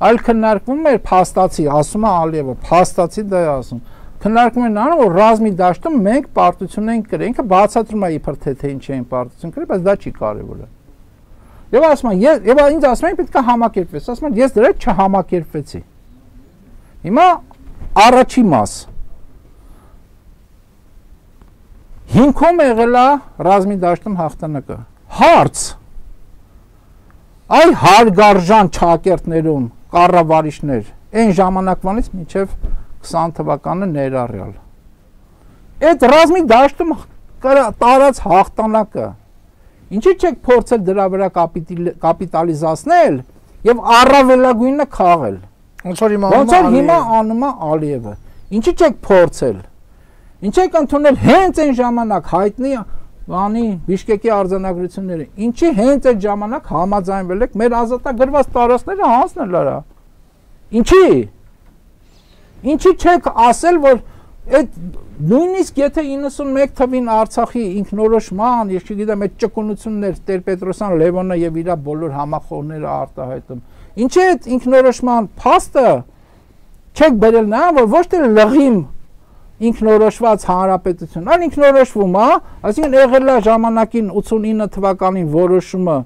[SPEAKER 3] այլ քննարկվում էր փաստացի, ասում է Ալիևը, փաստացի դա է ասում։ Քննարկում են անում, որ ռազմի դաշտում մենք պարտություն ենք կրել, ինքը բացատրում է իբր թե թե ինչ էին պարտություն կրել, բայց դա չի կարևորը։ Եվ ասում են, եւ ինձ ասում են պետք է համակերպվես, ասում են ես դրա հետ չհամակերպվեցի։ Հիմա առաջի մաս հիմքում եղել է ռազմի դաշտում հաղթանակը։ Հարց այ հարգարժան ճակերտներում կառավարիչներ այն ժամանակվանից մինչև քսան թվականը ներառյալ։ Այդ ռազմի դաշտում տարած հաղթանակը ինչի՞ չեք փորձել դրա վրա կապիտալիզացնել եւ առավելագույնը քաղել։
[SPEAKER 2] Ոնց որ
[SPEAKER 3] հիմա անում է Ալիևը։ Ինչի՞ չեք փորձել։ Ինչ եք ընդունել հենց այն ժամանակ հայտնի բանի Բիշկեկի արձանագրությունները։ Ինչի հենց այդ ժամանակ համաձայնվել եք մեր ազատագրված տարածքները հանձնել արա։ Ինչի։ Ինչի չեք ասել, որ այդ նույնիսկ եթե իննսունմեկ թվին Արցախի ինքնորոշման, ես չգիտեմ, այդ ճկունություններ Տեր-Պետրոսյան, Լևոնը եւ իր բոլոր համախոհները արտահայտում։ Ինչի այդ ինքնորոշման փաստը չեք բերել նա, որ ոչ թե լղիմ ինքնորոշված հանրապետություն, այլ ինքնորոշվում է, այսինքն եղել է ժամանակին ութսունինը թվականին որոշումը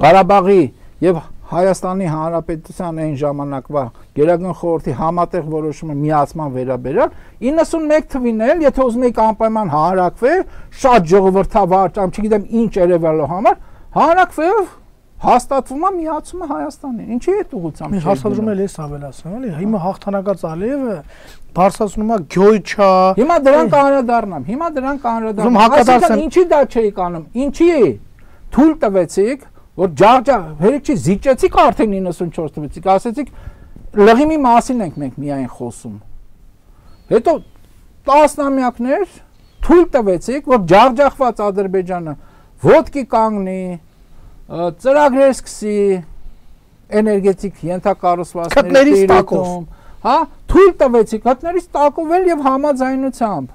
[SPEAKER 3] Ղարաբաղի եւ Հայաստանի Հանրապետության այն ժամանակվա Գերագույն խորհրդի համատեղ որոշումը միացման վերաբերյալ իննսունմեկ թվին էլ, եթե ուզում եք անպայման հանրակրվել, շատ ժողովրդավար, կամ չգիտեմ ինչ երևալու համար, հանրակրվելով հաստատվում է միացումը Հայաստանին։ Ինչի՞ է ուղղությամբ։
[SPEAKER 2] Մի հարցադրում էլ էս ավելացնում, էլի, հիմա հաղթանակած Ալիևը բարձրացնում է գյոյչա։
[SPEAKER 3] Հիմա դրան կանրադառնամ, հիմա դրան կանրադառնամ։ Այսինքն ինչի դա չէիք անում։ Ինչի՞ թույլ տվեցիք, որ ջախջախ, հերիք չի զիջեցիք արդեն իննսունչորս տվեցիք, ասեցիք լղիմի մասին ենք մենք միայն խոսում։ Հետո տասնամյակներ թույլ տվեցիք, որ ջախջախված Ադրբեջանը ոտքի կանգնի, ծրագրեր սկսի էներգետիկ ենթակառուցվածքների տիրույթում, հա, թույլ տվեցիք հատներից տակովել եւ համաձայնությամբ,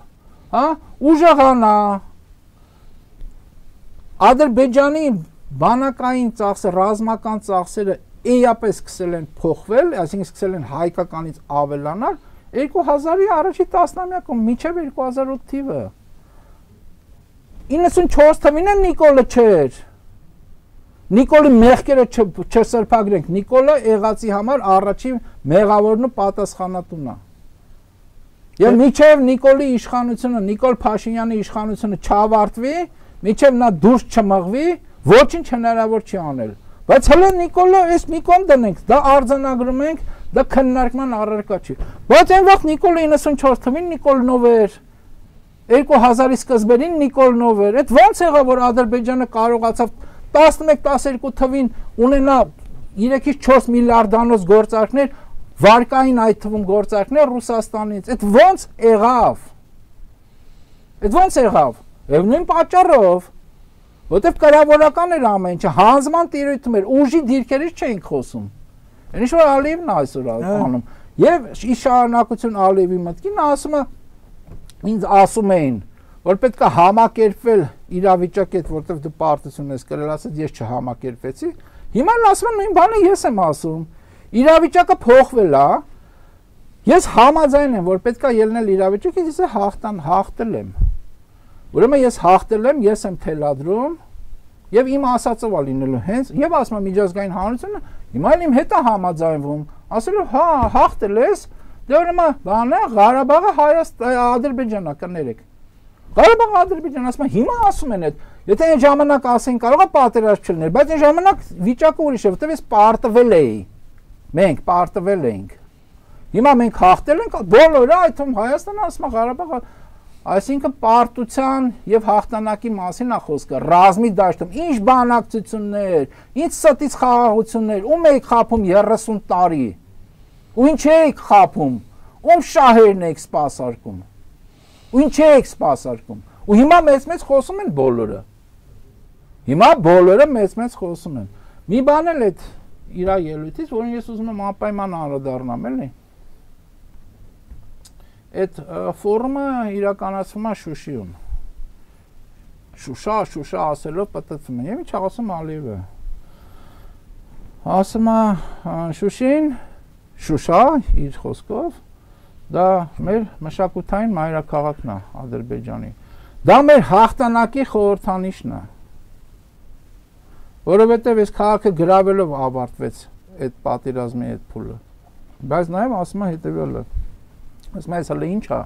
[SPEAKER 3] հա, ուժեղանա Ադրբեջանի բանակային ծախսը, ռազմական ծախսերը էապես սկսել են փոխվել, այսինքն սկսել են հայկականից ավելանալ երկու հազարի առաջի տասնամյակում մինչև երկու հազար ութ թիվը։ իննսունչորս թվին էլ Նիկոլը չէր։ Նիկոլի մեղքերը չսրբագրենք, Նիկոլը եղածի համար առաջին մեղավորն ու պատասխանատուն է։ Եվ միջև Նիկոլի իշխանությունը, Նիկոլ Փաշինյանի իշխանությունը չավարտվի, միջև նա դուրս չմղվի, ոչինչ հնարավոր չի անել։ Բայց հələ Նիկոլը այս մի կողմ դնենք, դա արձանագրում ենք, դա քննարկման առարկա չի։ Բայց այն վաղ Նիկոլը իննսունչորս թվականին Նիկոլնով էր, երկու հազարի սկզբերին Նիկոլնով էր։ Այդ ո՞նց եղավ, որ Ադրբեջանը կարողացավ տասնմեկ տասներկու թվին ունենա երեքից չորս միլիարդանոց գործարքներ, վարկային այդ թվում գործարքներ Ռուսաստանից։ Այդ ո՞նց եղավ։ Այդ ո՞նց եղավ։ Եվ նույն պատճառով, որտեվ կառավարական էր ամեն ինչը, հանձնման տիրույթում էր, ուժի դիրքերից չէինք խոսում։ Ինչ որ Ալիևն այսօր անում։ Եվ ի շարունակություն Ալիևի մտքին ասում է, ինձ ասում էին, որ պետք է համակերպվել իրավիճակի հետ, որտեվ դու պարտություն ես կրել, ասած ես չհամակերպվեցի։ Հիմա ասում են նույն բանը ես եմ ասում։ Իրավիճակը փոխվել է։ Ես համաձայն եմ, որ պետք է ելնել իրավիճակից, ես հաղթան հաղթել եմ։ Ուրեմն ես հաղթել եմ, ես եմ թելադրում եւ իմ ասածով է լինելու հենց եւ ասում եմ միջազգային հանրությունը հիմա իմ հետ է համաձայնվում, ասելով հա հաղթել ես, դե ուրեմն բանը Ղարաբաղը Հայաստան Ադրբեջանա կներեք։ Ղարաբաղը Ադրբեջան ասում են հիմա ասում են այդ, եթե այն ժամանակ ասեն կարող է պատերազմ չլիներ, բայց այն ժամանակ վիճակը ուրիշ է, որտեվ ես պարտվել էի։ Մենք պարտվել էինք։ Հիմա մենք հաղթել ենք, բոլորը այդ թվում Հայաստանը ասում է Ղարաբաղը, այսինքն պարտության եւ հաղթանակի մասին է խոսքը, ռազմի դաշտում, ինչ բանակցություններ, ինչ ստից խաղաղություններ, ում եք խափում երեսուն տարի։ Ու ինչ եք խափում, ում շահերն եք սպասարկում։ Ու ինչ եք սպասարկում։ Ու հիմա մեծ-մեծ խոսում են բոլորը։ Հիմա բոլորը մեծ-մեծ խոսում են։ Մի բան էլ այդ իր ելույթից, որին ես ուզում եմ անպայման անդրադառնամ, էլի։ Այդ ֆորումը իրականացվում է Շուշիում։ Շուշա, Շուշա ասելով պատտվում են։ Եվ ինչ ասում Ալիևը։ Ասում է Շուշին, Շուշա իր խոսքով, դա մեր մշակութային մայրաքաղաքն է Ադրբեջանի։ Դա մեր հաղթանակի խորհրդանիշն է։ Որովհետև այս քաղաքը գրավելով ավարտվեց այդ պատերազմի այդ փուլը։ Բայց նաև ասում է հետևյալը։ Ասում ես հələ ինչ է։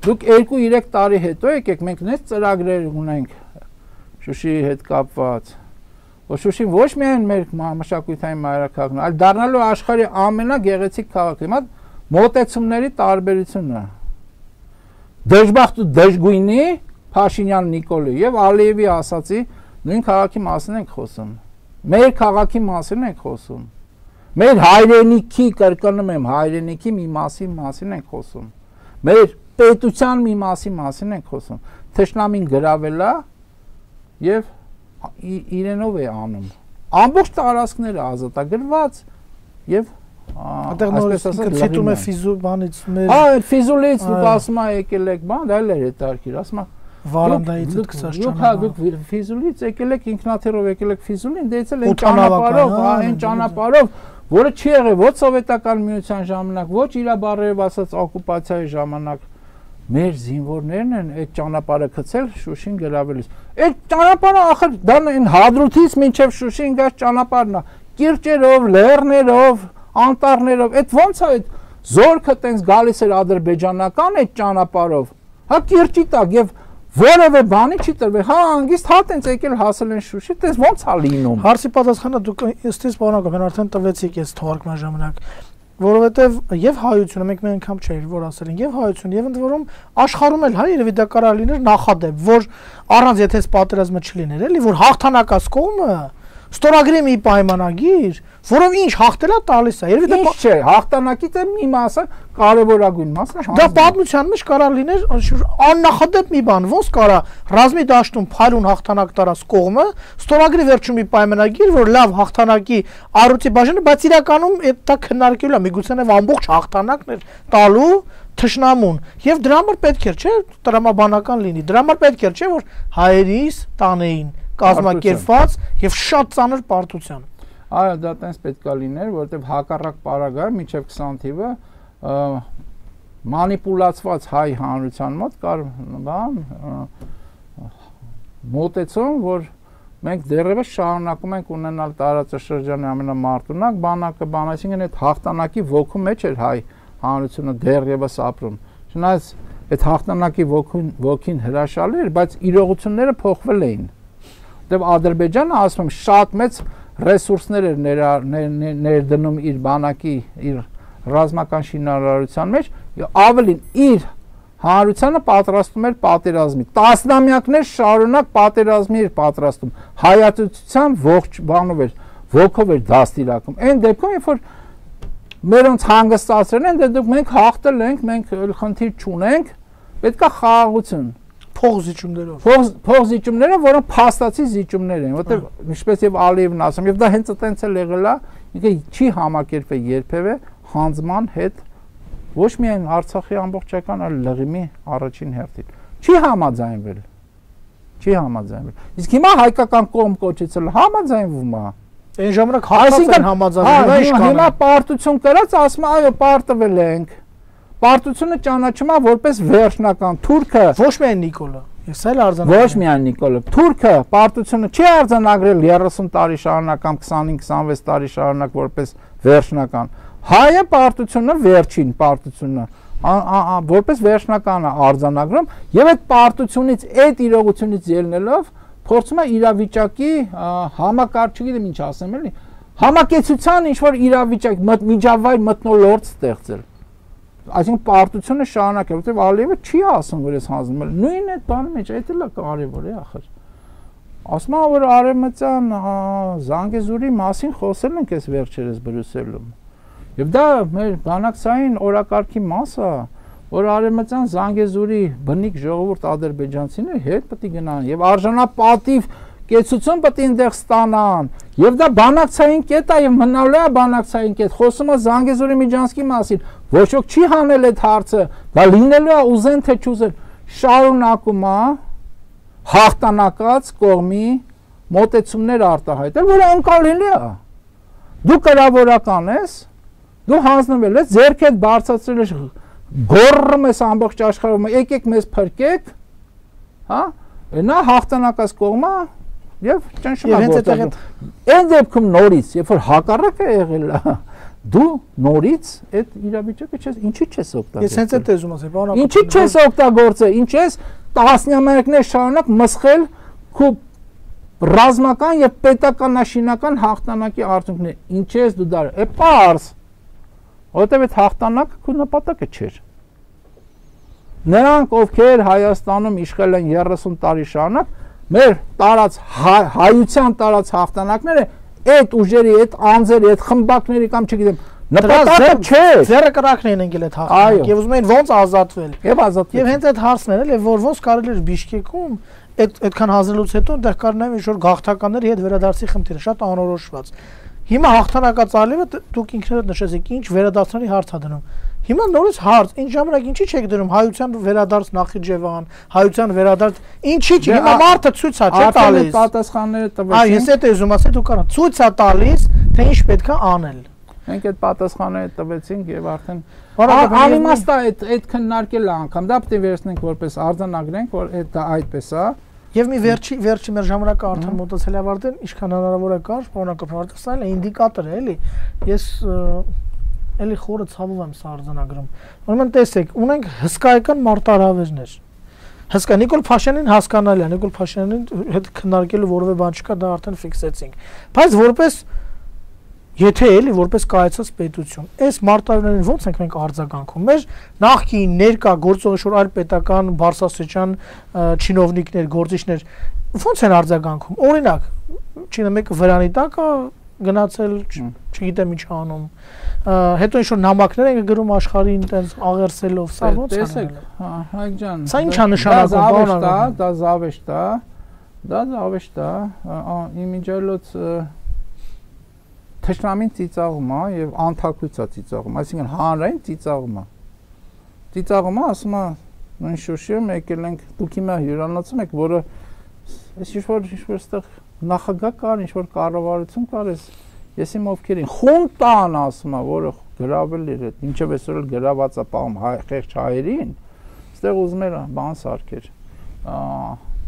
[SPEAKER 3] Դուք երկու-երեք տարի հետո եկեք, մենք նենց ծրագրեր ունենք Շուշիի հետ կապված։ Որ Շուշին ոչ միայն մեր մշակութային մայրաքաղաքն է, այլ դառնալու աշխարհի ամենագեղեցիկ քաղաքը։ Հիմա մոտեցումների տարբերությունը։ Դժբախտ ու դժգույնի Փաշինյան Նիկոլի եւ Ալիևի ասացի նույն քաղաքի մասին ենք խոսում։ Մեր քաղաքի մասին ենք խոսում։ Մեր հայրենիքի, կրկնում եմ, հայրենիքի մի մասի մասին ենք խոսում։ Մեր պետության մի մասի մասին ենք խոսում։ Թշնամին գրավել է եւ իրենով է անում։ Ամբողջ տարածքները ազատագրված եւ
[SPEAKER 2] այդտեղ նորից ցիտում է ֆիզու բանից մեր
[SPEAKER 3] հա այդ ֆիզուլից դուք ասում եք եկել եք բան դա էլ է հետարքիր ասում
[SPEAKER 2] վարանդայից դուք
[SPEAKER 3] դուք ֆիզուլից եկել եք ինքնաթիռով եկել եք ֆիզուլին դեցել են ճանապարհով հա այն ճանապարհով որը չի եղել ոչ սովետական միության ժամանակ ոչ իր բարերով ասած օկուպացիայի ժամանակ մեր զինվորներն են այդ ճանապարհը գցել Շուշին գրավելիս այդ ճանապարհը ախր դա այն Հադրութից մինչև Շուշին գած ճանապարհն է կիրճերով լեռներով անտառներով այդ ո՞նց է այդ զորքը տենց գալիս էր ադրբեջանական այդ ճանապարհով հա կիրճի տակ եւ որևէ բանի չի տրվել հա անգիստ հա տենց եկել հասել են Շուշի տես ո՞նց է լինում
[SPEAKER 2] հարցի պատասխանը դուք ըստիս բանակ են արդեն տվեցիք այս թողարկման ժամանակ որովհետեւ եւ հայությունը մենք մի անգամ չէր որ ասել են եւ հայություն եւ ընդ որում աշխարհում էլ հա երևի դա կարող լիներ նախադեպ որ առանց եթե պատերազմը չլիներ էլի որ հաղթանակած կողմը ստորագրի մի պայմանագիր, որով ինչ հաղթելա տալիս է։ Երևի դա
[SPEAKER 3] չէ, հաղթանակի դե մի մասը կարևորագույն մասն է։
[SPEAKER 2] Դա պատմության մեջ կարող լիներ աննախադեպ մի բան, ոնց կարա ռազմի դաշտում փայլուն հաղթանակ տարած կողմը ստորագրի վերջում մի պայմանագիր, որ լավ հաղթանակի առույցի բաժանը, բայց իրականում դա քննարկելու է, միգուցե նաև ամբողջ հաղթանակն էր տալու թշնամուն եւ դրա համար պետք էր, չէ, տրամաբանական լինի։ Դրա համար պետք էր, չէ, որ հայերիս տանեին կազմակերպված եւ շատ ծանր պարտության։
[SPEAKER 3] Այո, դա տենց պետքա լիներ, որովհետեւ հակառակ պարագայում մինչեւ քսան թիվը մանիպուլացված հայ հանրության մոտ կար բան մոտեցում, որ մենք դեռևս շարունակում ենք ունենալ տարածաշրջանի ամենամարտունակ բանակը, բան, այսինքն այդ հաղթանակի ոգու մեջ էր հայ հանրությունը դեռևս ապրում։ Չնայած այդ հաղթանակի ոգին ոգին հրաշալի էր, բայց իրողությունները փոխվել էին։ Որտեւ Ադրբեջանը ասում եմ շատ մեծ ռեսուրսներ էր ներդնում իր բանակի, իր ռազմական շինարարության մեջ, ավելին իր հանրությանը պատրաստում էր պատերազմի։ Տասնամյակներ շարունակ պատերազմի էր պատրաստում։ Հայատության ողջ բանով էր, ոգով էր դաստիարակում։ Այն դեպքում, երբ որ մերոնց հանգստացրել են, դե դուք մենք հաղթել ենք, մենք խնդիր չունենք, պետք է խաղաղություն։
[SPEAKER 2] Փողզիջումներով։
[SPEAKER 3] Փողզիջումները, որոնք փաստացի զիջումներ են, որտեղ ինչպես եւ Ալիևն ասում, եւ դա հենց այդտենց էլ եղել է, ինքը չի համակերպվել երբևէ հանձման հետ, ոչ միայն Արցախի ամբողջական, այլ Լղիմի առաջին հերթին։ Չի համաձայնվել։ Չի համաձայնվել։ Իսկ հիմա հայկական կողմ կոչեցել համաձայնվում է։
[SPEAKER 2] Այն ժամանակ հացած են համաձայնվել, ի՞նչ կան։
[SPEAKER 3] Հիմա պարտություն կրած ասում այո, պարտվել ենք։ Պարտությունը ճանաչում է որպես վերջնական։ Թուրքը
[SPEAKER 2] ոչ միայն Նիկոլը, ես էլ արձանագրել։
[SPEAKER 3] Ոչ միայն Նիկոլը։ Թուրքը պարտությունը չի արձանագրել երեսուն տարի շարունակ կամ քսանհինգ քսանվեց տարի շարունակ որպես վերջնական։ Հայը պարտությունը վերջին պարտությունը որպես վերջնական է արձանագրում եւ այդ պարտությունից, այդ իրողությունից ելնելով փորձում է իրավիճակի համակարգ, չգիտեմ ինչ ասեմ էլի, համակեցության ինչ որ իրավիճակ, միջավայր մթնոլորտ ստեղծել։ Այսինքն պարտությունը շարունակել, որտեղ Ալիևը չի ասում, որ ես հանձնում եմ։ Նույն այդ բանը մեջ, այդ էլ է կարևոր է ախր։ Ասում եմ, որ Արևմտյան Զանգեզուրի մասին խոսել ենք այս վերջերս Բրյուսելում։ Եվ դա մեր բանակցային օրակարգի մաս է, որ Արևմտյան Զանգեզուրի բնիկ ժողովուրդ ադրբեջանցիները հետ պետք է գնան եւ արժանապատիվ կեցություն պետք է այնտեղ ստանան։ Եվ դա բանակցային կետ է եւ մնալու է բանակցային կետ։ Խոսում է Զանգեզուրի Միջանցքի մասին։ Ոչ ոք չի հանել այդ հարցը։ Դա լինելու է ուզեն թե չուզեն։ Շարունակում է հաղթանակած կողմի մոտեցումներ արտահայտել, որը անկարելի է։ Դու կրավորական ես, դու հանձնվել ես, ձեռքդ բարձրացրել ես, գոռում ես ամբողջ աշխարհում, եկեք մեզ փրկեք, հա? Նա հաղթանակած կողմը եւ ճնշում է գործում։ Այն դեպքում նորից, երբ որ հակառակը եղել է, դու նորից այդ իրավիճակը չես, ինչի չես օգտագործել։ Ես
[SPEAKER 2] հենց այդ էզում ասեմ, բանակ։
[SPEAKER 3] Ինչի չես օգտագործել, ինչ ես տասնամյակներ շարունակ մսխել քո ռազմական եւ պետականաշինական հաղթանակի արդյունքներ։ Ինչ ես դու դա։ Է պարզ։ Որտեւ այդ հաղթանակը քո նպատակը չէր։ Նրանք, ովքեր Հայաստանում իշխել են երեսուն տարի շարունակ, մեր տարած հայության տարած հաղթանակները այդ ուժերի, այդ անձերի, այդ խմբակների կամ չգիտեմ, նպատակը չէ։
[SPEAKER 2] Ձեռը կրակն են եկել այդ հաղթանակ եւ ուզում են ոնց ազատվել։
[SPEAKER 3] Եվ ազատվել։
[SPEAKER 2] Եվ հենց այդ հարցն էր, էլ որ ոնց կարելի էր Բիշկեկում այդ այդքան հանձնելուց հետո դեռ կար նաեւ ինչ որ գաղթականների հետ վերադարձի խնդիրը շատ անորոշված։ Հիմա հաղթանակած Ալիևը դուք ինքներդ նշեցիք, ինչ վերադարձների հարց ա դնում։ Հիմա նորից հարց, ինչ ժամանակ ինչի չեք դնում հայության վերադարձ Նախիջևան, հայության վերադարձ, ինչի՞ չի, հիմա մարդը ցույց է չէ տալիս։
[SPEAKER 3] Պատասխանները տվեցին։
[SPEAKER 2] Այ ես այդ էզում ասել դու կարա ցույց է տալիս, թե ինչ պետք է անել։
[SPEAKER 3] Մենք այդ պատասխանները տվեցինք եւ արդեն անիմաստ է այդ այդ քննարկելը անգամ դա պետք է վերցնենք որպես արձանագրենք, որ դա այդպես է։
[SPEAKER 2] Եվ մի վերջի վերջի մեր ժամանակը արդեն մոտեցել է ավարտել, ինչքան հնարավոր է կար, բանական արդեն սա էլ ինդիկատոր է, էլի։ Ես էլի խորը ցավով եմ սա արձանագրում։ Ուրեմն տեսեք, ունենք հսկայական մարտահրավերներ։ Հսկա Նիկոլ Փաշինյանին հասկանալի է, Նիկոլ Փաշինյանին հետ քննարկելու որևէ բան չկա, դա արդեն ֆիքսեցինք։ Բայց որպես եթե էլի որպես կայացած պետություն, այս մարտահրավերներին ո՞նց ենք մենք արձագանքում։ Մեր նախկին ներկա գործող շուտ այլ պետական բարձրաստիճան չինովնիկներ, գործիչներ ո՞նց են արձագանքում։ Օրինակ, չինը մեկը վրանի տակ է գնացել, չգիտեմ ինչ անում։ Հետո ինչ որ նամակներ են գրում աշխարհին տենց աղերսելով, սա ո՞նց է։
[SPEAKER 3] Տեսեք, հա, Հայկ ջան։
[SPEAKER 2] Սա ի՞նչ է նշանակում,
[SPEAKER 3] բանը։ Դա զավեշտ է, դա զավեշտ է, իմիջիալոց թշնամին ծիծաղում է եւ անթակույց է ծիծաղում, այսինքն հանրային ծիծաղում է։ Ծիծաղում է, ասում է, նույն Շուշիում եկել ենք, դուք հիմա հյուրանոցում եք, որը այս ինչ-որ ինչ-որ այստեղ նախագահ կար, ինչ-որ կառավարություն կար, ես իմ ովքեր են, խունտան ասում է, որը գրավել էր, ինչեւ այսօր էլ գրաված է պահում խեղճ հայերին, այստեղ ուզում էր բան սարքեր։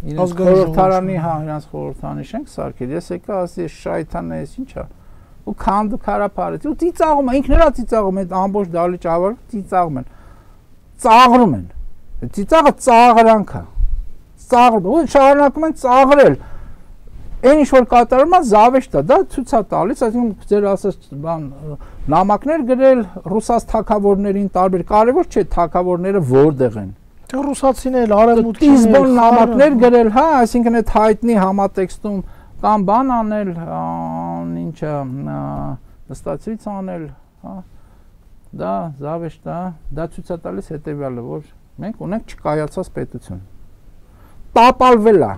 [SPEAKER 3] Իրենց խորհրդարանի, հա, իրենց խորհրդարանի շենք սարքեր։ Ես եկա ասի շայթան էս ի՞նչ է։ Ու քանդու քարափարեց ու ծիծաղում է ինքներա ծիծաղում են ամբողջ դալի ճավար ծիծաղում են ծաղրում են։ Ծիծաղը ծաղրանք է։ Ծաղրում, ու շարունակում են ծաղրել։ Այն ինչ որ կատարում է զավեշտ է, դա ցույց է տալիս, այսինքն ձեր ասած բան նամակներ գրել ռուսաց թագավորներին տարբեր, կարևոր չէ թագավորները որտեղ են։
[SPEAKER 2] Թե ռուսացիներ, արևմուտքին
[SPEAKER 3] Տիզբոն նամակներ գրել, հա, այսինքն այդ հայտնի համատեքստում կամ բան անել, ինչը նստացույց անել, հա, դա զավեշտ է, դա ցույց է տալիս հետևյալը, որ մենք ունենք չկայացած պետություն։ Տապալվել է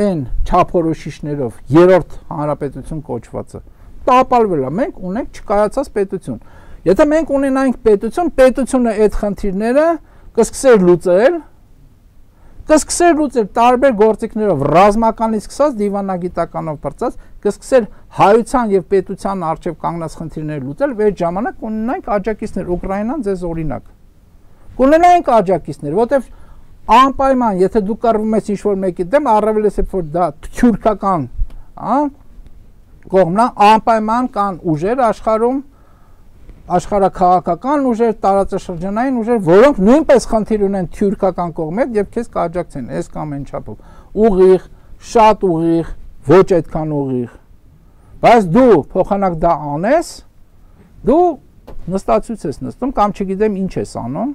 [SPEAKER 3] այն չափորոշիչներով երրորդ հանրապետություն կոչվածը տապալվել է, մենք ունենք չկայացած պետություն։ Եթե մենք ունենայինք պետություն, պետությունը այդ խնդիրները կսկսեր լուծել, կսկսեր լուծել տարբեր գործիքներով, ռազմականից սկսած դիվանագիտականով բրծած, կսկսեր հայության եւ պետության արժեվ կանգնած խնդիրները լուծել, եւ այդ ժամանակ ունենայինք աջակիցներ, Ուկրաինան ձեզ օրինակ։ Կունենայինք աջակիցներ, որտեվ անպայման, եթե դու կռվում ես ինչ-որ մեկի դեմ, առավել է որ դա թյուրքական, հա, կողմն է, անպայման կան ուժեր աշխարհում, աշխարհաքաղաքական ուժեր, տարածաշրջանային ուժեր, որոնք նույնպես խնդիր ունեն թյուրքական կողմի հետ եւ քեզ կաջակցեն, այս կամ այն չափով։ Ուղիղ, շատ ուղիղ, ոչ այդքան ուղիղ։ Բայց դու փոխանակ դա անես, դու նստածույց ես նստում կամ չգիտեմ ինչ ես անում,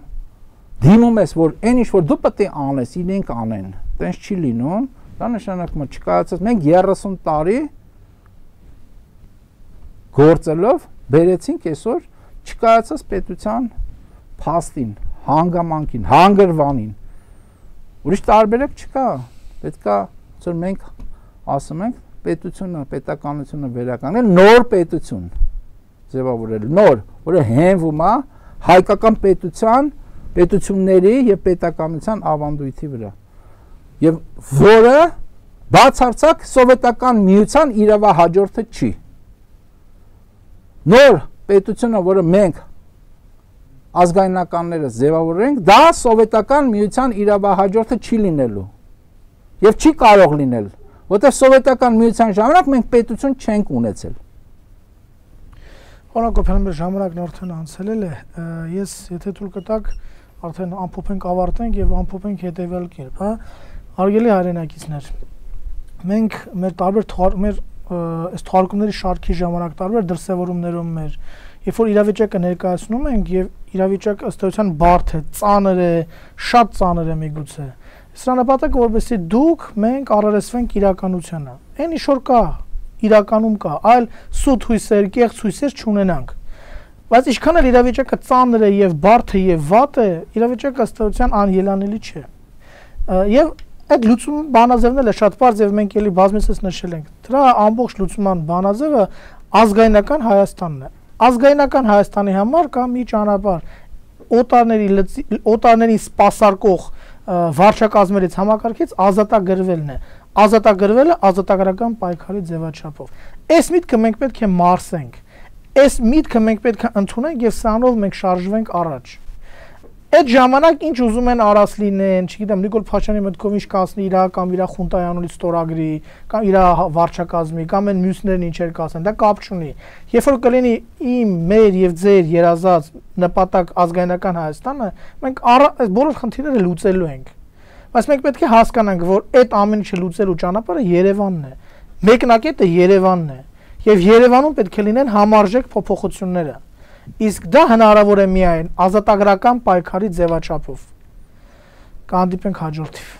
[SPEAKER 3] դիմում ես, որ այն ինչ որ դու պետք է անես, իրենք անեն, տենց չի լինում, դա նշանակում է չկայացած, մենք երեսուն տարի գործելով բերեցինք այսօր չկայացած պետության փաստին, հանգամանքին, հանգրվանին։ Ուրիշ տարբերակ չկա, պետք է, որ մենք ասում ենք, պետությունը, պետականությունը վերականգնել, նոր պետություն ձևավորել, նոր, որը հենվում է հայկական պետության, պետությունների եւ պետականության ավանդույթի վրա։ Եվ որը բացարձակ սովետական միության իրավահաջորդը չի։ Նոր պետությունը, որը մենք ազգայնականները ձևավորենք, դա սովետական միության իրավահաջորդը չի լինելու եւ չի կարող լինել, որտեղ սովետական միության ժամանակ մենք պետություն չենք ունեցել։
[SPEAKER 2] Պարոն Կոփյանյան, ժամանակն արդեն անցել է, ես եթե թույլ կտաք, արդեն ամփոփենք, ավարտենք եւ ամփոփենք հետեւյալ կերպ, հա։ Հարգելի հայրենակիցներ, մենք մեր տարբեր մեր այս թարգումների շարքի ժամանակ տարբեր դրսևորումներում մեր, երբ որ իրավիճակը ներկայացնում ենք եւ իրավիճակը ըստ էության բարդ է, ծանր է, շատ ծանր է միգուցե։ Սրա նպատակը որպեսզի դուք մենք առերեսվենք իրականությանը։ Այն ինչ որ կա, իրականում կա, այլ սուտ հույսեր, կեղծ հույսեր չունենանք։ Բայց ինչքան էլ իրավիճակը ծանր է եւ բարդ է եւ վատ է, իրավիճակը ըստ էության անելանելի չէ։ Եվ այդ լուծում բանաձևն էլ է շատ բարձ եւ մենք էլի բազմիցս նշել ենք։ Դրա ամբողջ լուծման բանաձևը ազգայնական Հայաստանն է։ Ազգայնական Հայաստանի համար կա մի ճանապարհ օտարների օտարներին սպասարկող վարչակազմերից համակարգից ազատագրվելն է։ Ազատագրվելը ազատագրական պայքարի ձևաչափով։ Այս միտքը մենք պետք է մարսենք։ Այս միտքը մենք պետք է ընդունենք եւ սրանով մենք շարժվենք առաջ։ Այդ ժամանակ ինչ ուզում են արած լինեն, չգիտեմ, Նիկոլ Փաշինյանի մտքով ինչ կասնի իր կամ իր խունտայանունից ստորագրի, կամ իր վարչակազմի, կամ այն մյուսներն ինչեր կասեն, դա կապ չունի։ Երբ որ կլինի իմ, մեր եւ ձեր երազած նպատակ ազգայնական Հայաստանը, մենք այս բոլոր խնդիրները լուծելու ենք։ Բայց մենք պետք է հասկանանք, որ այդ ամեն ինչը լուծելու ճանապարհը Երևանն է։ Մեկնակետը Երևանն է։ Եվ Երևանում պետք է լինեն համարժեք փոփոխությունները։ Իսկ դա հնարավոր է միայն ազատագրական պայքարի ձևաչափով։ Կհանդիպենք հաջորդիվ։